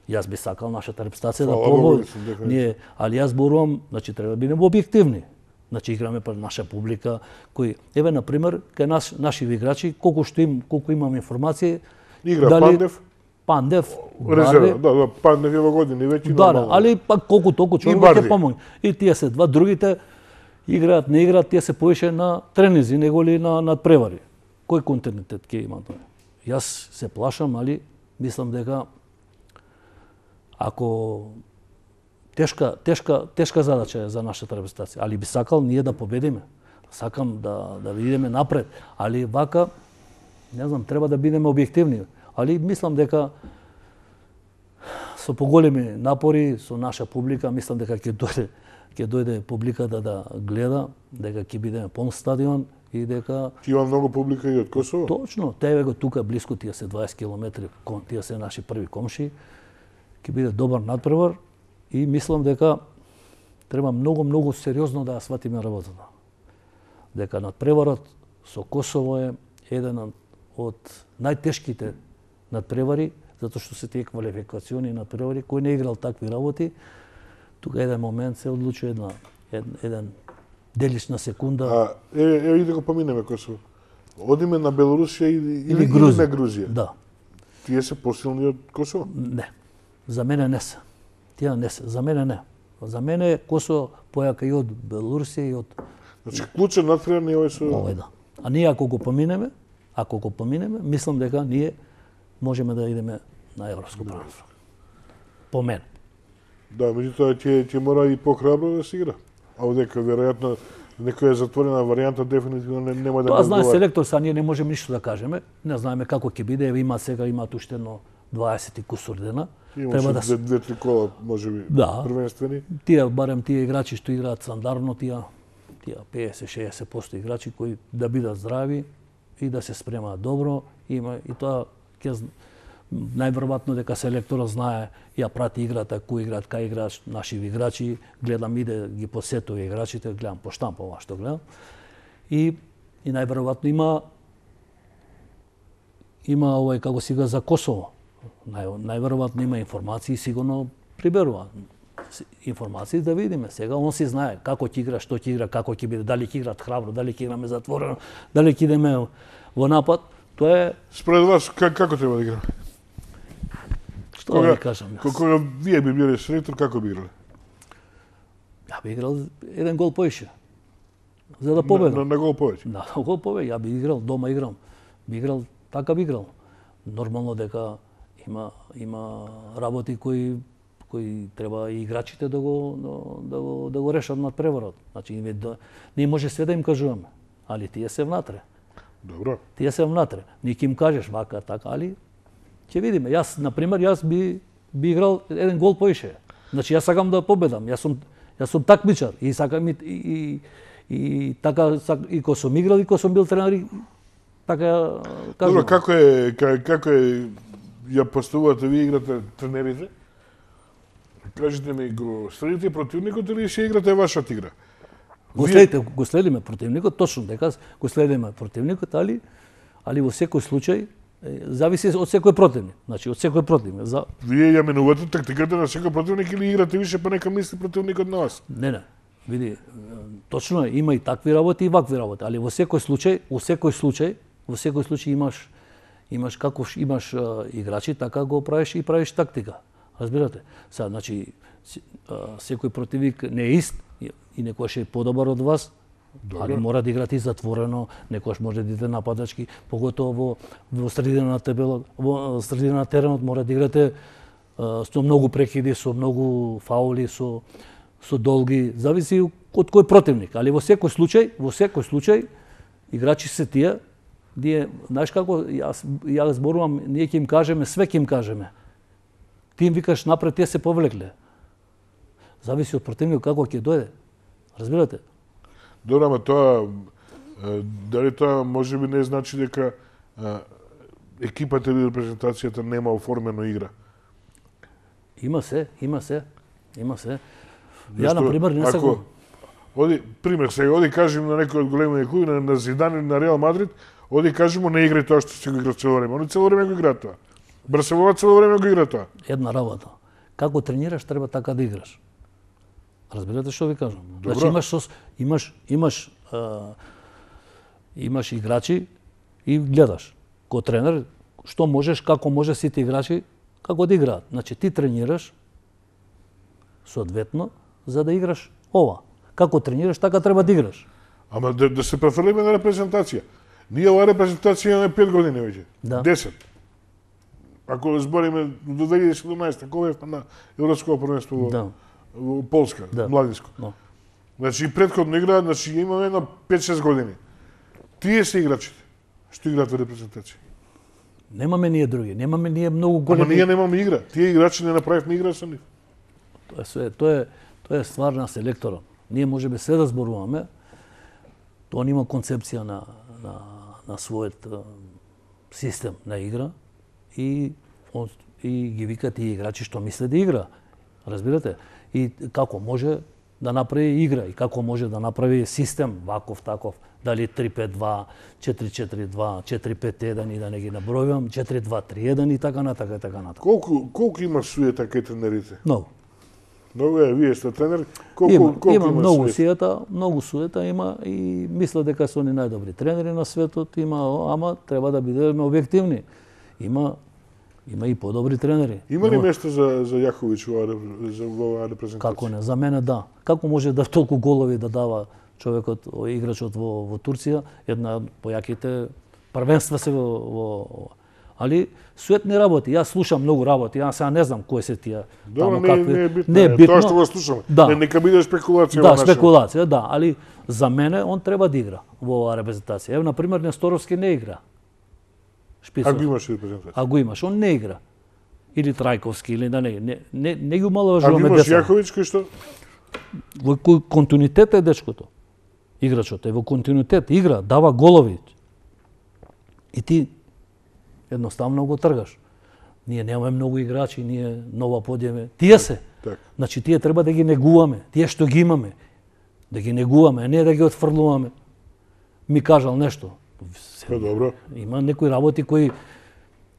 јас би сакал нашата репрезентација да победи. Ние, али јас зборувам, значи треба да бидеме објективни. Значи играме пред наша публика кои еве на пример кај наш наши играчи колку што им колку имам информации игра дали, Пандев. Пандев, Резерва, да, да, Пандев е во години веќе. Да, да, али пак колку толку човек ќе помогне. И тие се два другите играат, не играат, тие се повише на тренизи неголи на надпревари. Кој континуитет ќе има тоа? Јас се плашам, али мислам дека ако тешка тешка тешка задача е за нашата репрезентација, али би сакал ние да победиме. Сакам да да видиме напред, али вака не знам, треба да бидеме објективни. Али мислам дека со поголеми напори со наша публика, мислам дека ќе дојде ќе дојде публиката да гледа, дека ќе биде полн стадион и дека Ти има многу публика и од Косово? Точно, тебе го тука блиску, тие се дваесет километри, тие се наши први комши. Ќе биде добар надпревар и мислам дека треба многу многу сериозно да ја сватиме работата. Дека надпреварот со Косово е еден од најтешките надпревари, затоа што се тие квалификациони надпревари, кој не играл такви работи, тука еден момент се одлучува една еден, еден делиш на секунда. А еве еве да го поминеме Косово. Одиме на Белорусија или, или, или Грузија. Или на Грузија. Да. Тие се посилни од Косово? Не. За мене не се. Тие не се. За мене не. За мене Косово појака и од Белорусија и од Значи клучен надпревар не овој со овој да. А ние ако го поминеме, ако го поминеме, мислам дека ние можеме да идеме на европско првенство. По мен. Да, меѓутоа ќе ќе мора и похрабро да се игра. А одека веројатно некоја затворена варијанта дефинитивно не, нема да Тоа знае одговара. селектор, са ние не можеме ништо да кажеме. Не знаеме како ќе биде, еве има сега имаат уште едно дваесет и кусур дена. Треба да две, две три кола можеби да, првенствени. Тие барем тие играчи што играат стандардно, тие тие петдесет до шеесет проценти играчи кои да бидат здрави и да се спремаат добро, има и тоа ќе најверојатно дека селекторот знае, ја прати играта, кој играат, кај играат наши играчи, гледам иде ги посетува играчите, гледам по штампа ова што гледам. И и најверојатно има има овој како сега за Косово. Нај, најверојатно има информации, сигурно приберува информации да видиме. Сега он си знае како ќе игра, што ќе игра, како ќе биде, дали ќе играат храбро, дали ќе играме затворено, дали ќе идеме во напад. Тоа е Според вас как, како треба да играме? Што кога, да ви кажам јас? Кога вие би биле селектор, како би играле? Ја би играл еден гол поише. За да победам. На, на, на гол повеќе? Да, на гол повеќе. Ја би играл, дома играм. Би играл, така би играл. Нормално дека има има работи кои кои треба и играчите да го да го да го решат над преварот. Значи ние да, не може све да им кажуваме, али тие се внатре. Добро. Тие се внатре. Ни ќе им кажеш вака така, али ќе видиме. Јас на пример јас би би играл еден гол поише. Значи јас сакам да победам. Јас сум јас сум такмичар и сакам и и, и така и кога сум играл и кога сум бил тренер така кажувам. Добро, како е како е ја поставувате вие играте тренерите? Кажете ми, го следите противникот или ќе играте вашата игра? Го следите, го следиме противникот, точно дека го следиме противникот, али али во секој случај зависи од секој противник. Значи од секој противник. За Вие ја менувате тактиката на секој противник или играте више па нека мисли противникот на вас? Не, не. Види, точно е, има и такви работи и вакви работи, али во секој случај, во секој случај, во секој случај имаш имаш како имаш а, играчи, така го правиш и правиш тактика. Разбирате? Са, значи, секој противник не е ист и некојаш е подобар од вас, Добро. Али мора да играте и затворено, некојаш може да идете нападачки, поготово во, во средина на табелот, во средина на теренот мора да играте а, со многу прекиди, со многу фаули, со со долги, зависи од кој противник, али во секој случај, во секој случај играчи се тие, ние, знаеш како, јас ја зборувам, ние ќе им кажеме, све ќе им кажеме. Ти им викаш напред, тие се повлекле. Зависи од противникот како ќе дојде. Разбирате? Добро, ама тоа дали тоа можеби не значи дека а, екипата или репрезентацијата нема оформено игра? Има се, има се, има се. Ја, на пример, не се го... Оди, пример, сега, оди кажем на некој од големите клуби, на, на Зидан или на Реал Мадрид, оди кажемо не играј тоа што се го игра цело време. Они цело време го играат тоа. Барселона цело време го игра тоа. Една работа. Како тренираш, треба така да играш. Разбирате што ви кажам? Добро. Значи имаш сос, имаш имаш а, имаш играчи и гледаш. Ко тренер што можеш, како може сите играчи како да играат. Значи ти тренираш соодветно за да играш ова. Како тренираш, така треба да играш. Ама да, да се префрлиме на репрезентација. Ние оваа репрезентација имаме пет години веќе. Да. десет. Ако збориме до две илјади и седумнаесета, кога е на Европско првенство во, Да. во Полска, Да. младинско. Но. Значи предходно играат, значи имаме едно пет-шест години. Тие се играчите што играат во репрезентација. Немаме ние други, немаме ние многу Ама големи. ние немаме игра. Тие играчи не направивме игра со нив. Тоа е све, тоа е тоа е ствар на селекторот. Ние можеме се да зборуваме. Тоа нема концепција на на на својот а, систем на игра и он, и ги вика тие играчи што мисле да игра. Разбирате? И како може да направи игра и како може да направи систем ваков таков, дали три пет два, четири четири два, четири пет еден и да не ги набројувам, четири два три еден и така натака и така натака. Колку колку има суета кај тренерите? Многу. Многу е, вие сте тренер. Колку Има, колку има, има многу суета? суета, многу суета има и мисля дека се они најдобри тренери на светот, има, ама треба да бидеме објективни. Има има и подобри тренери. Има ли Нема- место за за Јаховиќ во оваа- за во оваа репрезентација? Како не, за мене да. Како може да толку голови да дава човекот, играчот во во Турција, една од појаките првенства се во, во али сует не работи. Јас слушам многу работи, јас сега не знам кои се тие Добро, тамо не, какви. не е битно. Не е битно. Тоа што го слушаме. Да. Не, нека биде спекулација Да, во нашем. спекулација, да, али за мене он треба да игра во оваа репрезентација. Ево, на пример, Несторовски не игра. Шпицов. Ако имаш репрезентација. А го имаш, он не игра. Или Трајковски, или да не, не, не, не ги Ако умаловажуваме имаш деца. Јаховиќ кој што? Во кој континуитет е дечкото. Играчот е во континуитет, игра, дава голови. И ти едноставно го тргаш. Ние немаме многу играчи, ние нова подјеме. Тие се. Така. Значи тие треба да ги негуваме, тие што ги имаме. Да ги негуваме, а не да ги отфрлуваме. Ми кажал нешто. Па добро. Има некои работи кои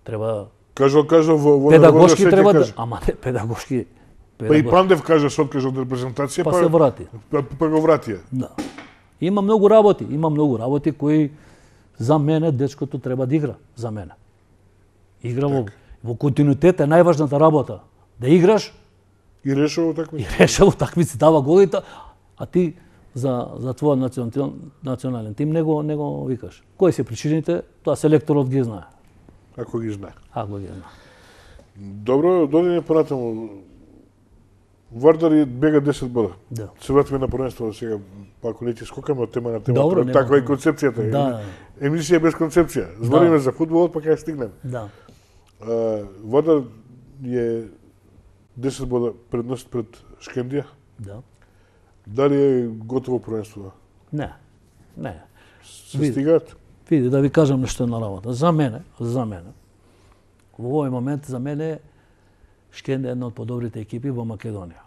треба Кажал, кажал во во педагошки народот, треба секој да, каже. ама не педагошки. Па и педагошки. Пандев кажа се откажа од репрезентација, Па се врати. Па, па го вратија. Да. Има многу работи, има многу работи кои за мене дечкото треба да игра, за мене. Игра во, во континуитет е најважната работа. Да играш И решава и такмици. реша утакмици, дава голите, а ти за за твојот национален, национален тим не го не го викаш. Кои се причините, тоа селекторот ги знае. Ако ги знае. Ако ги знае. Добро, додиме понатаму. Вардар и бега десет бода. Да. Се вратиме на првенство сега, па ако не ти скокаме од тема на тема. Добро, нема таква е проблем. концепцијата. Да. Емисија без концепција. Збориме за фудбалот, па кај стигнеме. Да. А, Вардар е десет бода предност пред Шкендија. Да. Дали е готово првенство? Не. Не. Се Види. стигаат? Види, да ви кажам нешто на работа. За мене, за мене, во овој момент, за мене, Шкенде е една од подобрите екипи во Македонија.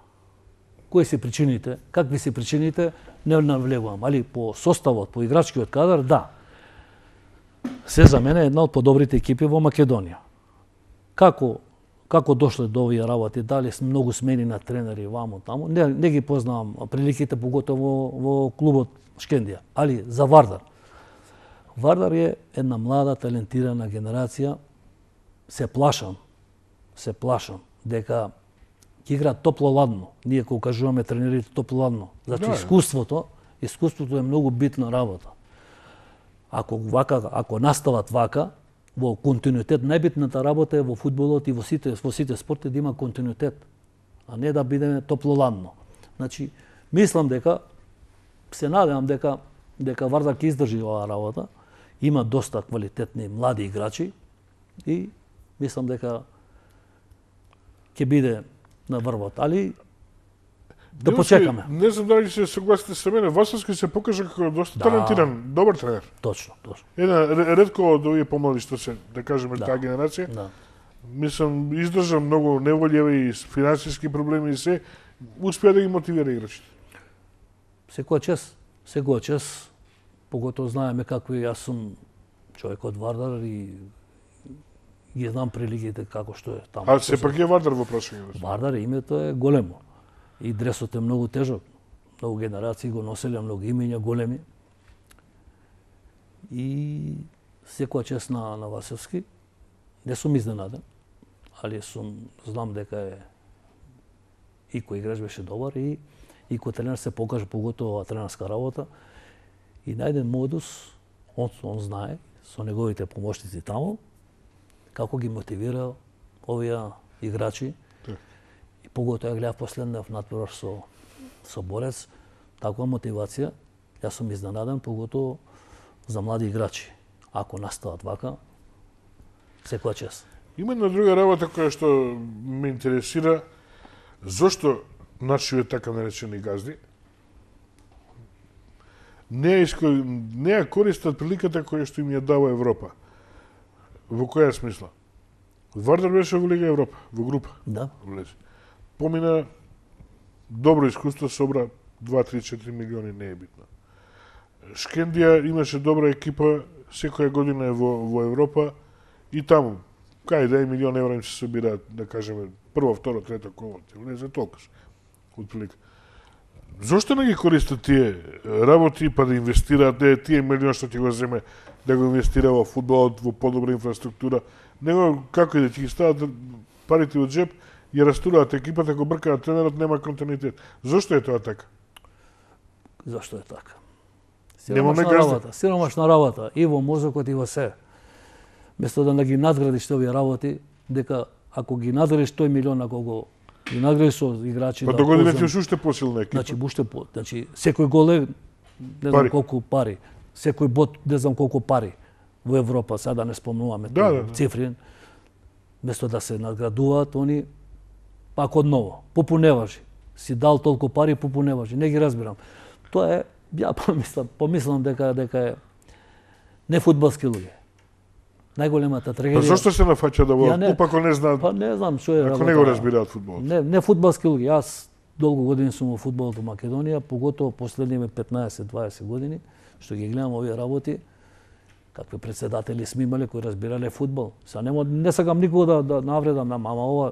Кои се причините? Какви се причините? Не навлегувам, али по составот, по играчкиот кадар, да. Се за мене е една од подобрите екипи во Македонија. Како како дошле до овие работи, дали с многу смени на тренери вамо таму, не, не ги познавам приликите поготово во, во клубот Шкендија, али за Вардар. Вардар е една млада, талентирана генерација. Се плашам, се плашам дека ќе игра топло-ладно. Ние кога кажуваме тренерите топло-ладно, значи Да. искуството, искуството е многу битна работа. Ако вака, ако настават вака, во континуитет, најбитната работа е во фудбалот и во сите во сите спорти да има континуитет, а не да бидеме топлоладно. Значи, мислам дека се надевам дека дека Вардар ќе издржи оваа работа. Има доста квалитетни млади играчи и мислам дека ќе биде на врвот, али да почекаме. Не знам дали се согласите со мене, Васовски се покажа како доста Да. талентиран, добар тренер. Точно, точно. Една ретко од овие помлади што се, да кажеме, Да. таа генерација. Да. Мислам, издржа многу неволјеви и финансиски проблеми и се, успеа да ги мотивира играчите. Секоја чест, секоја чест, поготово знаеме какви јас сум човек од Вардар и ги знам приликите како што е таму. А сепак е Вардар во прашање. Вардар името е големо. И дресот е многу тежок. Многу генерации го носеле, многу имења големи. И секоја чест на, на Васевски. Не сум изненаден, али сум, знам дека е и кој играч беше добар и и кој тренер се покажа поготово ова тренерска работа. И најден модус, он, он знае, со неговите помошници таму, како ги мотивира овие играчи. И поготово ја гледав последнав надпревар со со Борец, таква мотивација, јас сум изненаден, поготово за млади играчи. Ако настават вака, секоја чест. Има една друга работа која што ме интересира, зошто нашиве така наречени газди не ја, иско... не ја користат приликата која што им ја дава Европа. Во која смисла? Вардар беше во Лига Европа, во група. Да. Влезе. Помина добро искуство, собра два, три, четири милиони, не е битно. Шкендија имаше добра екипа, секоја година е во, во Европа и таму, кај да е милион евра им се собираат, да кажеме, прво, второ, трето коло, влезе толкаш, отприлика. Зошто не ги користат тие работи, па да инвестираат, не, тие милион што ќе го земе, да го инвестира во фудбалот, во подобра инфраструктура, него како и да ќе ги стават парите од джеп, ја растураат екипата, го бркаат тренерот, нема континуитет. Зошто е тоа така? Зашто е така? Немаме Сиромашна газда. работа, сиромашна работа и во мозокот и во се. Место да ги надградиш овие работи, дека ако ги надградиш тој милион, ако го ги надградиш со играчи, Па да до година ползам- ќе уште посилна екипа. Значи уште по, значи секој гол е не знам Пари. колку пари. Секој бот не знам колку пари во Европа, сега да не спомнуваме Да, тој да, да. цифри. Место да се надградуваат, они пак одново, попуневажи. Си дал толку пари, попуневажи. Не ги разбирам. Тоа е, ја помислам, помислам дека дека е не фудбалски луѓе. Најголемата Па трагедија. зошто се нафаќа да Ја во не- клуб ако не знаат, Па не знам што е ако работа. не го разбираат фудбалот? Не, не фудбалски луѓе. Јас долго години сум во фудбалот во Македонија, поготово последниве петнаесет-дваесет години, што ги гледам овие работи, какви председатели сме имале кои разбирале фудбал. Са нема, не сакам никого да, да навредам, на ама ова,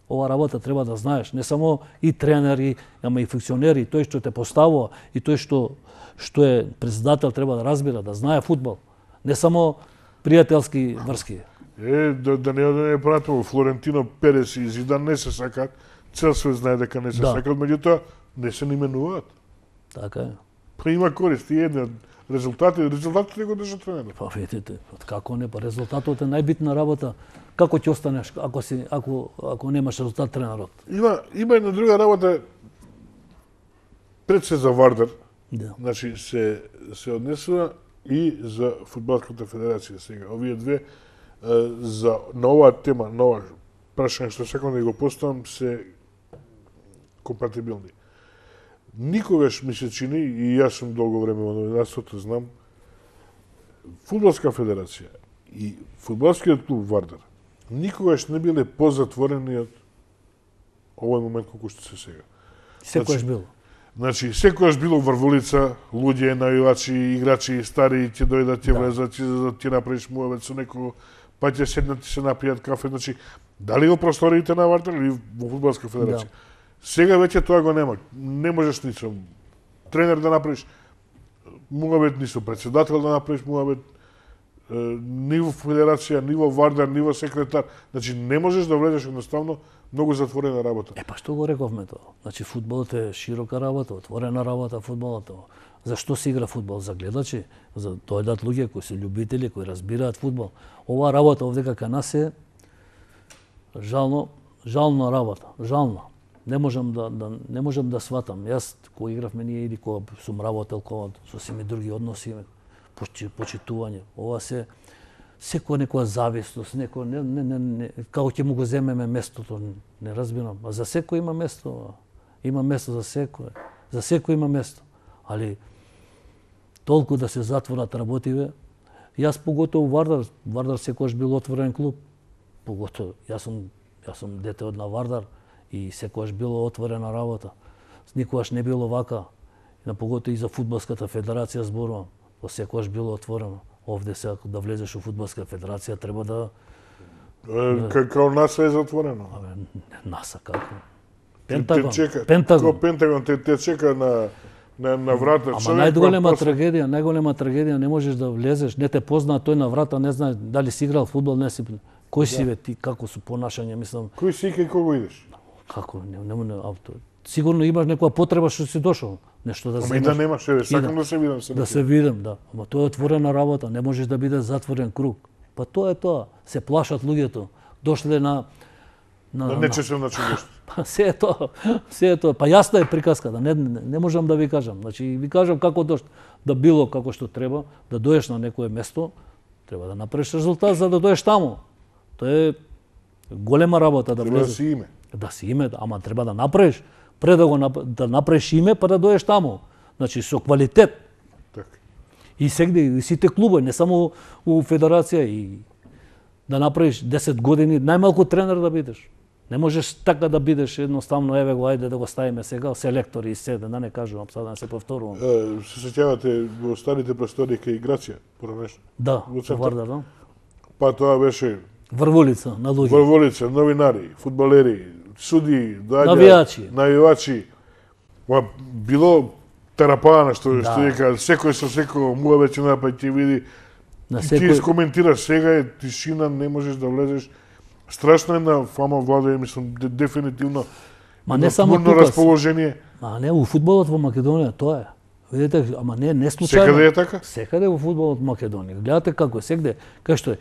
ова работа треба да знаеш. Не само и тренери, ама и функционери, тој што те поставува и тој што што е председател треба да разбира, да знае фудбал. Не само пријателски врски. Е, да, да не да не пратимо Флорентино, Перес и Зидан не се сакаат, цел свет знае дека не се Да. сакаат, меѓутоа не се именуваат. Така е. Па има корист и една резултати, резултатите го држат тренерот. Па видите, како не, па резултатот е најбитна работа. Како ќе останеш ако си ако ако немаш резултат тренерот? Има има една друга работа пред се за Вардар, Да. значи се се однесува и за фудбалската федерација сега. Овие две е, за на оваа тема, на ова прашање што сакам да го поставам се компатибилни. Никогаш ми се чини, и јас сум долго време во новинарството, знам, фудбалска федерација и фудбалскиот клуб Вардар никогаш не биле позатворени од овој момент колку што се сега. Секојаш Значи, било. Значи, секојаш било врволица, луѓе, навивачи, играчи, стари, ќе дојдат, ќе Да. влезат, ќе да ти направиш муавет со некого, па ќе седнат и се напијат кафе. Значи, дали во просториите на Вардар или во фудбалска федерација? Да. Сега веќе тоа го нема. Не можеш ни со тренер да направиш муавет, ни со председател да направиш муавет. ниво федерација, ниво Вардар, ниво секретар. Значи не можеш да влезеш едноставно многу затворена работа. Е па што го рековме тоа? Значи фудбалот е широка работа, отворена работа фудбалот. Зашто се игра фудбал? За гледачи, за дојдат луѓе кои се љубители, кои разбираат фудбал. Оваа работа овде кај нас е жално, жална работа, жална. Не можам да, да не можам да сватам. Јас кога игравме ние или кога сум работел кога со сими други односи, почитување. Ова се секоја некоја завистост, некој не, не, не, не како ќе му го земеме местото, не разбирам. А за секој има место, има место за секој. За секој има место. Али толку да се затворат работиве, јас поготово Вардар, Вардар секогаш бил отворен клуб. Поготово јас сум јас сум дете од на Вардар и секогаш било отворена работа. Никогаш не било вака. На поготово и за фудбалската федерација зборувам. Тоа секогаш било отворено. Овде се ако да влезеш во фудбалска федерација треба да како НАСА е затворено. Абе, НАСА како? Пентагон. Те чека, Пентагон. Како Пентагон те, те чека на на, на врата. Ама најголема трагедија, најголема трагедија, не можеш да влезеш, не те познаа тој на врата, не знае дали си играл фудбал, не си. Кој си бе ти, како су понашање, мислам. Кој си и кога идеш? Како, не, не, не, авто. Сигурно имаш некоја потреба што си дошол, нешто да земаш. земаш. Ама и да немаш, еве, сакам да, да се видам се. Да се видам, да. Ама тоа е отворена работа, не можеш да биде затворен круг. Па тоа е тоа, се плашат луѓето. Дошле на на на нечесен начин нешто. Па се е тоа, се е тоа. Па јасна е приказката, не, не, не можам да ви кажам. Значи ви кажам како дош да било како што треба, да доеш на некое место, треба да направиш резултат за да доеш таму. Тоа е голема работа да влезеш. Треба да влезеш. си име. Да си име, ама треба да направиш, пред да го да направиш име, па да доеш таму. Значи со квалитет. Така. И сегде и сите клубови, не само у федерација, и да направиш десет години најмалку тренер да бидеш. Не можеш така да бидеш едноставно, еве го, ајде да го ставиме сега, селектори и се, да не кажувам, сега да не се повторувам. Е, се сеќавате во старите простори кај Грација, поранешно? Да, во Вардар, да. Па тоа беше Врволица на луѓе. Врволица, новинари, фудбалери, суди, доаѓа, навијачи. Навијачи. Ма било терапана што Да. што вика, секој со секој му веќе напаѓа ќе види. На И ти секој искоментираш, сега е тишина, не можеш да влезеш. Страшно е на фама влада, мислам, де, дефинитивно. Ма не само тука. тука. Расположение. А не, у фудбалот во Македонија тоа е. Видите, ама не не случајно. Секаде е така? Секаде во фудбалот Македонија. Гледате како е сегде, кај што е.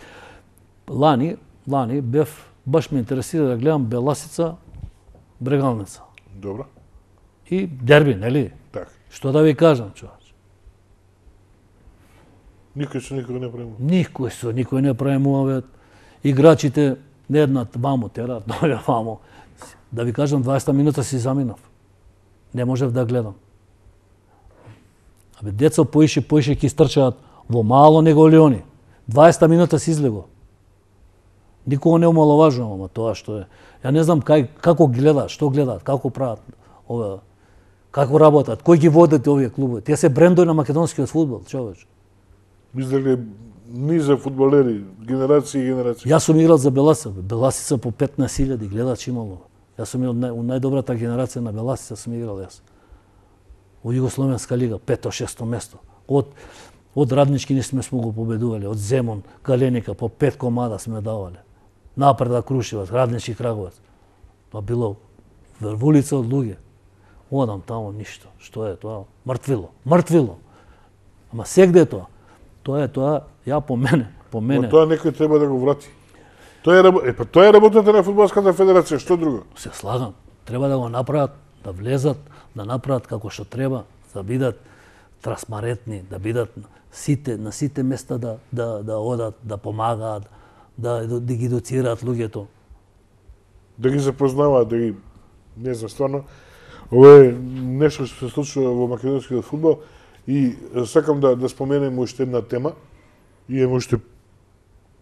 Лани, лани бев баш ме интересира да гледам Беласица Брегалница. Добро. И дерби, нели? Така. Што да ви кажам, човече? Никој со никој не прави. Никој со никој не премуваве. Играчите не една ваму терат, дојде ваму. Да ви кажам, дваесет минута си заминав. Не можев да гледам. Абе, деца поише, поише ќе стрчаат во мало него ли они. дваесет минута си излего. Никого не омаловажувам, ама тоа што е. Ја не знам кај, како гледаат, што гледаат, како прават ова, како работат, кој ги водат овие клубови. Тие се брендови на македонскиот фудбал, човече. Мислеле низа фудбалери, генерации и генерации. Јас сум играл за Беласица, Беласица по петнаесет илјади гледачи имало. Јас сум од нај, најдобрата генерација на Беласица сум играл јас. Во Југословенска лига, пето, шесто место. Од од Раднички не сме сме го победувале, од Земун, Галеника по пет комада сме давале. Напред Крушеваc, Раднички Краговец. Тоа било врвулица од луѓе. Одам таму ништо. Што е тоа? Мртвило, мртвило. Ама сегде е тоа. Тоа е тоа, ја по мене, по мене. Но тоа некој треба да го врати. Тоа е рабо... е па тоа е работата на фудбалската федерација, што друго? Се слагам. Треба да го направат, да влезат, да направат како што треба, да бидат трансparentни, да бидат сите на сите места да да да одат, да помагаат, да да ги едуцираат луѓето. Да ги запознаваат, да ги не знам стварно. Ова е нешто што се случува во македонскиот фудбал и сакам да да споменем уште една тема. И е уште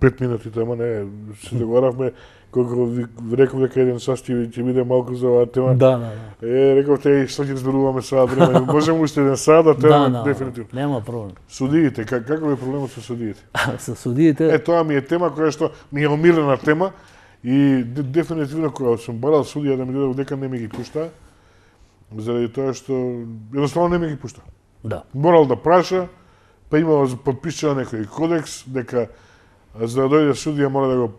пет минути тема, не, се договоравме колку ви реков дека еден состив ќе биде малку за оваа тема. Да, да, да. Е, рековте и што ќе зборуваме сега време. Можеме уште еден сад, да тема да, дефинитивно. Нема проблем. Судиите, как, каков е проблемот со судиите? Со судиите. Е, тоа ми е тема која што ми е омилена тема и де, дефинитивно кога сум барал судија да ми додат дека не ми ги пушта, заради тоа што едноставно не ми ги пушта. Да. Морал да праша, па имало подпишано некој кодекс дека за да дојде судија мора да го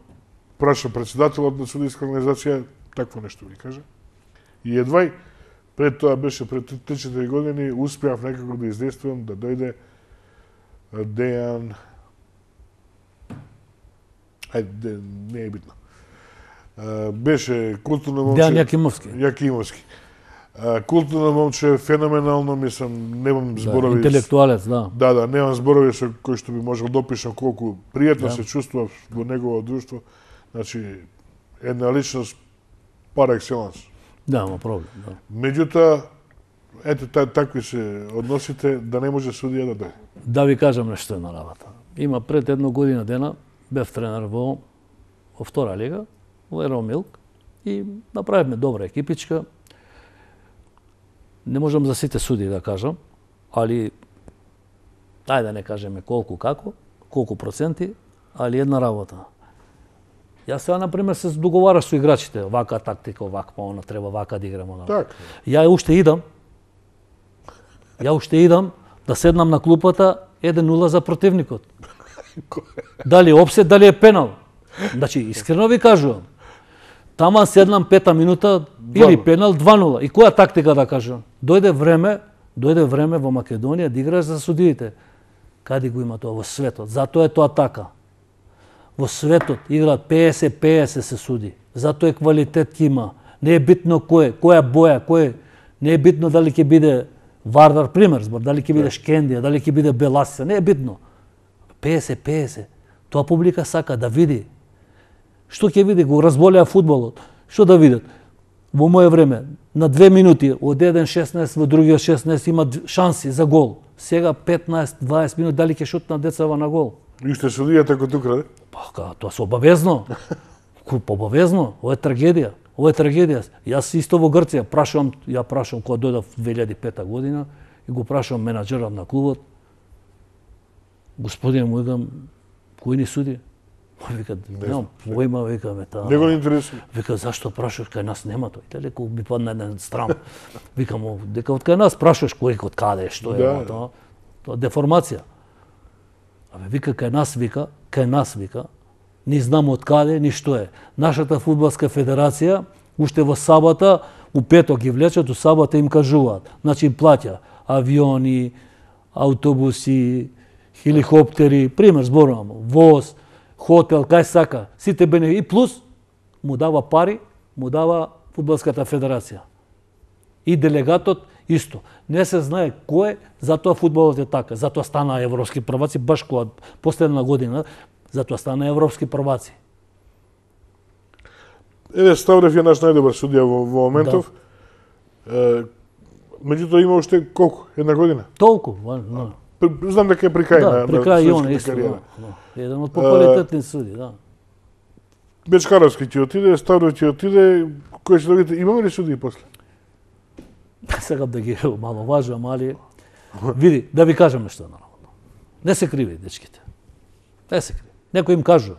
праша председателот на судијска организација, такво нешто ви кажа. И едвај пред тоа беше пред три-четири години успеав некако да издействувам да дојде Дејан, ајде, не е битно. Беше културно момче. Дејан Јакимовски. Јакимовски. Културно момче, феноменално, мислам, немам зборови. Да, интелектуалец, да. Да, да, немам зборови со кои што би можел да опишам колку пријатно да. се чувствував во негово друштво. Значи, една личност пар екселанс. Да, ма проблем, да. Меѓутоа, ето та, такви се односите да не може судија да дојде. Да ви кажам нешто една работа. Има пред една година дена бев тренер во во втора лига, во Еромилк и направивме добра екипичка. Не можам за сите суди да кажам, али ајде да не кажеме колку како, колку проценти, али една работа. Јас сега, например, се договараш со играчите, вака тактика, вака, она треба вака да играмо. Так. Ја уште идам, ја уште идам да седнам на клупата еден нула за противникот. Дали е опсет, дали е пенал. Значи, искрено ви кажувам, тама седнам пета минута или пенал два нула. И која тактика да кажам? Дојде време, дојде време во Македонија да играш за судиите. Каде го има тоа во светот? Затоа е тоа така. Во светот играат петдесет петдесет се суди. Затоа е квалитет ќе има. Не е битно кој, која боја, кој. Не е битно дали ќе биде Вардар, пример збор, дали ќе биде Шкендија, дали ќе биде Беласица, не е битно. петдесет петдесет. Тоа публика сака да види. Што ќе види? Го разболеа фудбалот. Што да видат? Во моје време, на две минути, од еден шеснаесет во другиот шеснаесет има шанси за гол. Сега петнаесет дваесет минути, дали ќе шутнат децава на гол? И уште судијата кој тук раде? Па, тоа се обавезно. Обавезно. Ова е трагедија. Ова е трагедија. Јас исто во Грција прашувам, ја прашувам кога дојдов две илјади и пета година и го прашувам менаџерот на клубот. Господине, му викам, кој ни суди? Вика, немам појма, вика, ме таа. Не го интересува. Вика, зашто прашуваш, кај нас нема тој? Дали кој би падна еден страм. Викам, дека од кај нас прашуваш кој од каде, што е да. тоа? Тоа деформација. Абе, вика, кај нас, вика, кај нас, вика, ни знамо од каде, ни што е. Нашата фудбалска федерација, уште во сабота, у петок ги влечат, у сабота им кажуваат. Значи им плаќа авиони, автобуси, хеликоптери, пример зборувам, воз, хотел, кај сака, сите бенефити, и плюс му дава пари, му дава фудбалската федерација. И делегатот исто. Не се знае кој, затоа фудбалот е така. Затоа стана европски прваци, баш кога последна година, затоа стана европски прваци. Еве Ставрев е наш најдобар судија во, во моментов. Да. Меѓутоа има уште колку? Една година? Толку, да. Знам дека е при крај да, на, при крај на и он исто, да, да. Еден од поквалитетни суди, да. Бечкаровски ти отиде, Ставрев ти отиде, кој ќе добите? Имаме ли судии после? Сакам да ги маловажувам, али види, да ви кажам нешто наравно. Не се криви дечките. Не се криви. Некој им кажува.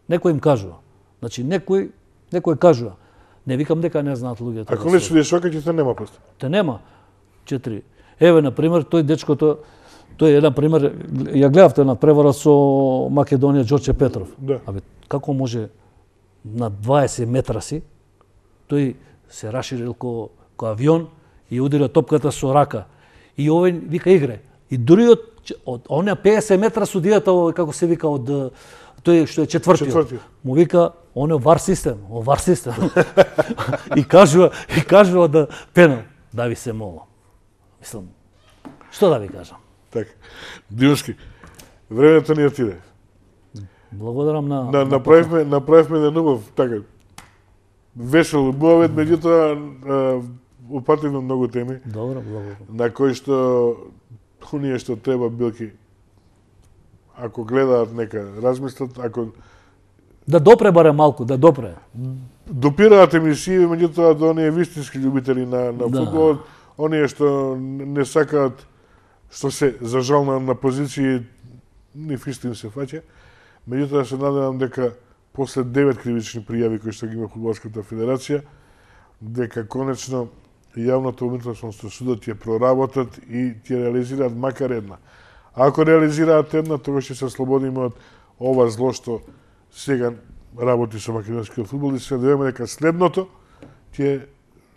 Некој им кажува. Значи некој некој кажува. Не викам дека не знаат луѓето. Ако не судиш шока, ќе те нема после. Те нема. Четири. Еве на пример тој дечкото, тој е на пример, ја гледавте на превара со Македонија Ѓорче Петров. Да. Абе како може на дваесет метра си тој се раширил ко, ко авион и удира топката со рака. И овој вика игре. И дури од, од онаа петдесет метра судијата, како се вика, од тој што е четвртиот. Четвртиот. Му вика, он е вар систем, о вар систем. и кажува, и кажува да пенал. Да ви се молам. Мислам, што да ви кажам? Така. Димски, времето ни отиде. Благодарам на... на направивме, направивме еден убав, така, весел убавет, меѓутоа упативме многу теми. Добро, благодарам. На кои што оние што треба билки, ако гледаат, нека размислат, ако да допре барем малку, да допре. Допираат емисии, меѓутоа до оние вистински љубители на на да. фудбалот, оние што не сакаат, што се за жал на, на позиции, ни фисто им се фаќа. Меѓутоа се надевам дека после девет кривични пријави кои што ги има Фудбалската федерација, дека конечно јавното обвинителство судот ќе проработат и ќе реализираат макар една. А ако реализираат една, тогаш ќе се слободиме од ова зло што сега работи со македонскиот фудбал и се надеваме дека следното ќе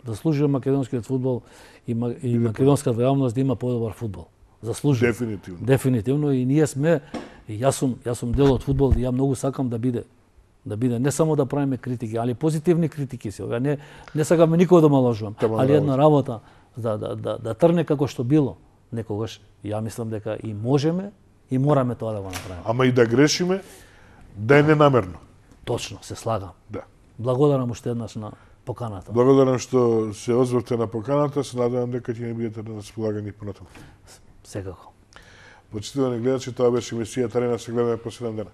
заслужува македонскиот фудбал и, и македонската јавност да има подобар фудбал. Заслужува. Дефинитивно. Дефинитивно и ние сме и јас сум јас сум дел од фудбал и ја многу сакам да биде да биде не само да правиме критики, али позитивни критики се. Не не сакаме никој да малажувам, али една работа да да да да трне како што било некогаш. Ја мислам дека и можеме и мораме тоа да го направиме. Ама и да грешиме, да е ненамерно. Точно, се слагам. Да. Благодарам уште еднаш на поканата. Благодарам што се озврте на поканата, се надевам дека ќе ни бидете на располагање понатаму. Секако. Почитувани гледачи, тоа беше емисијата Арена, се гледаме по седем дена.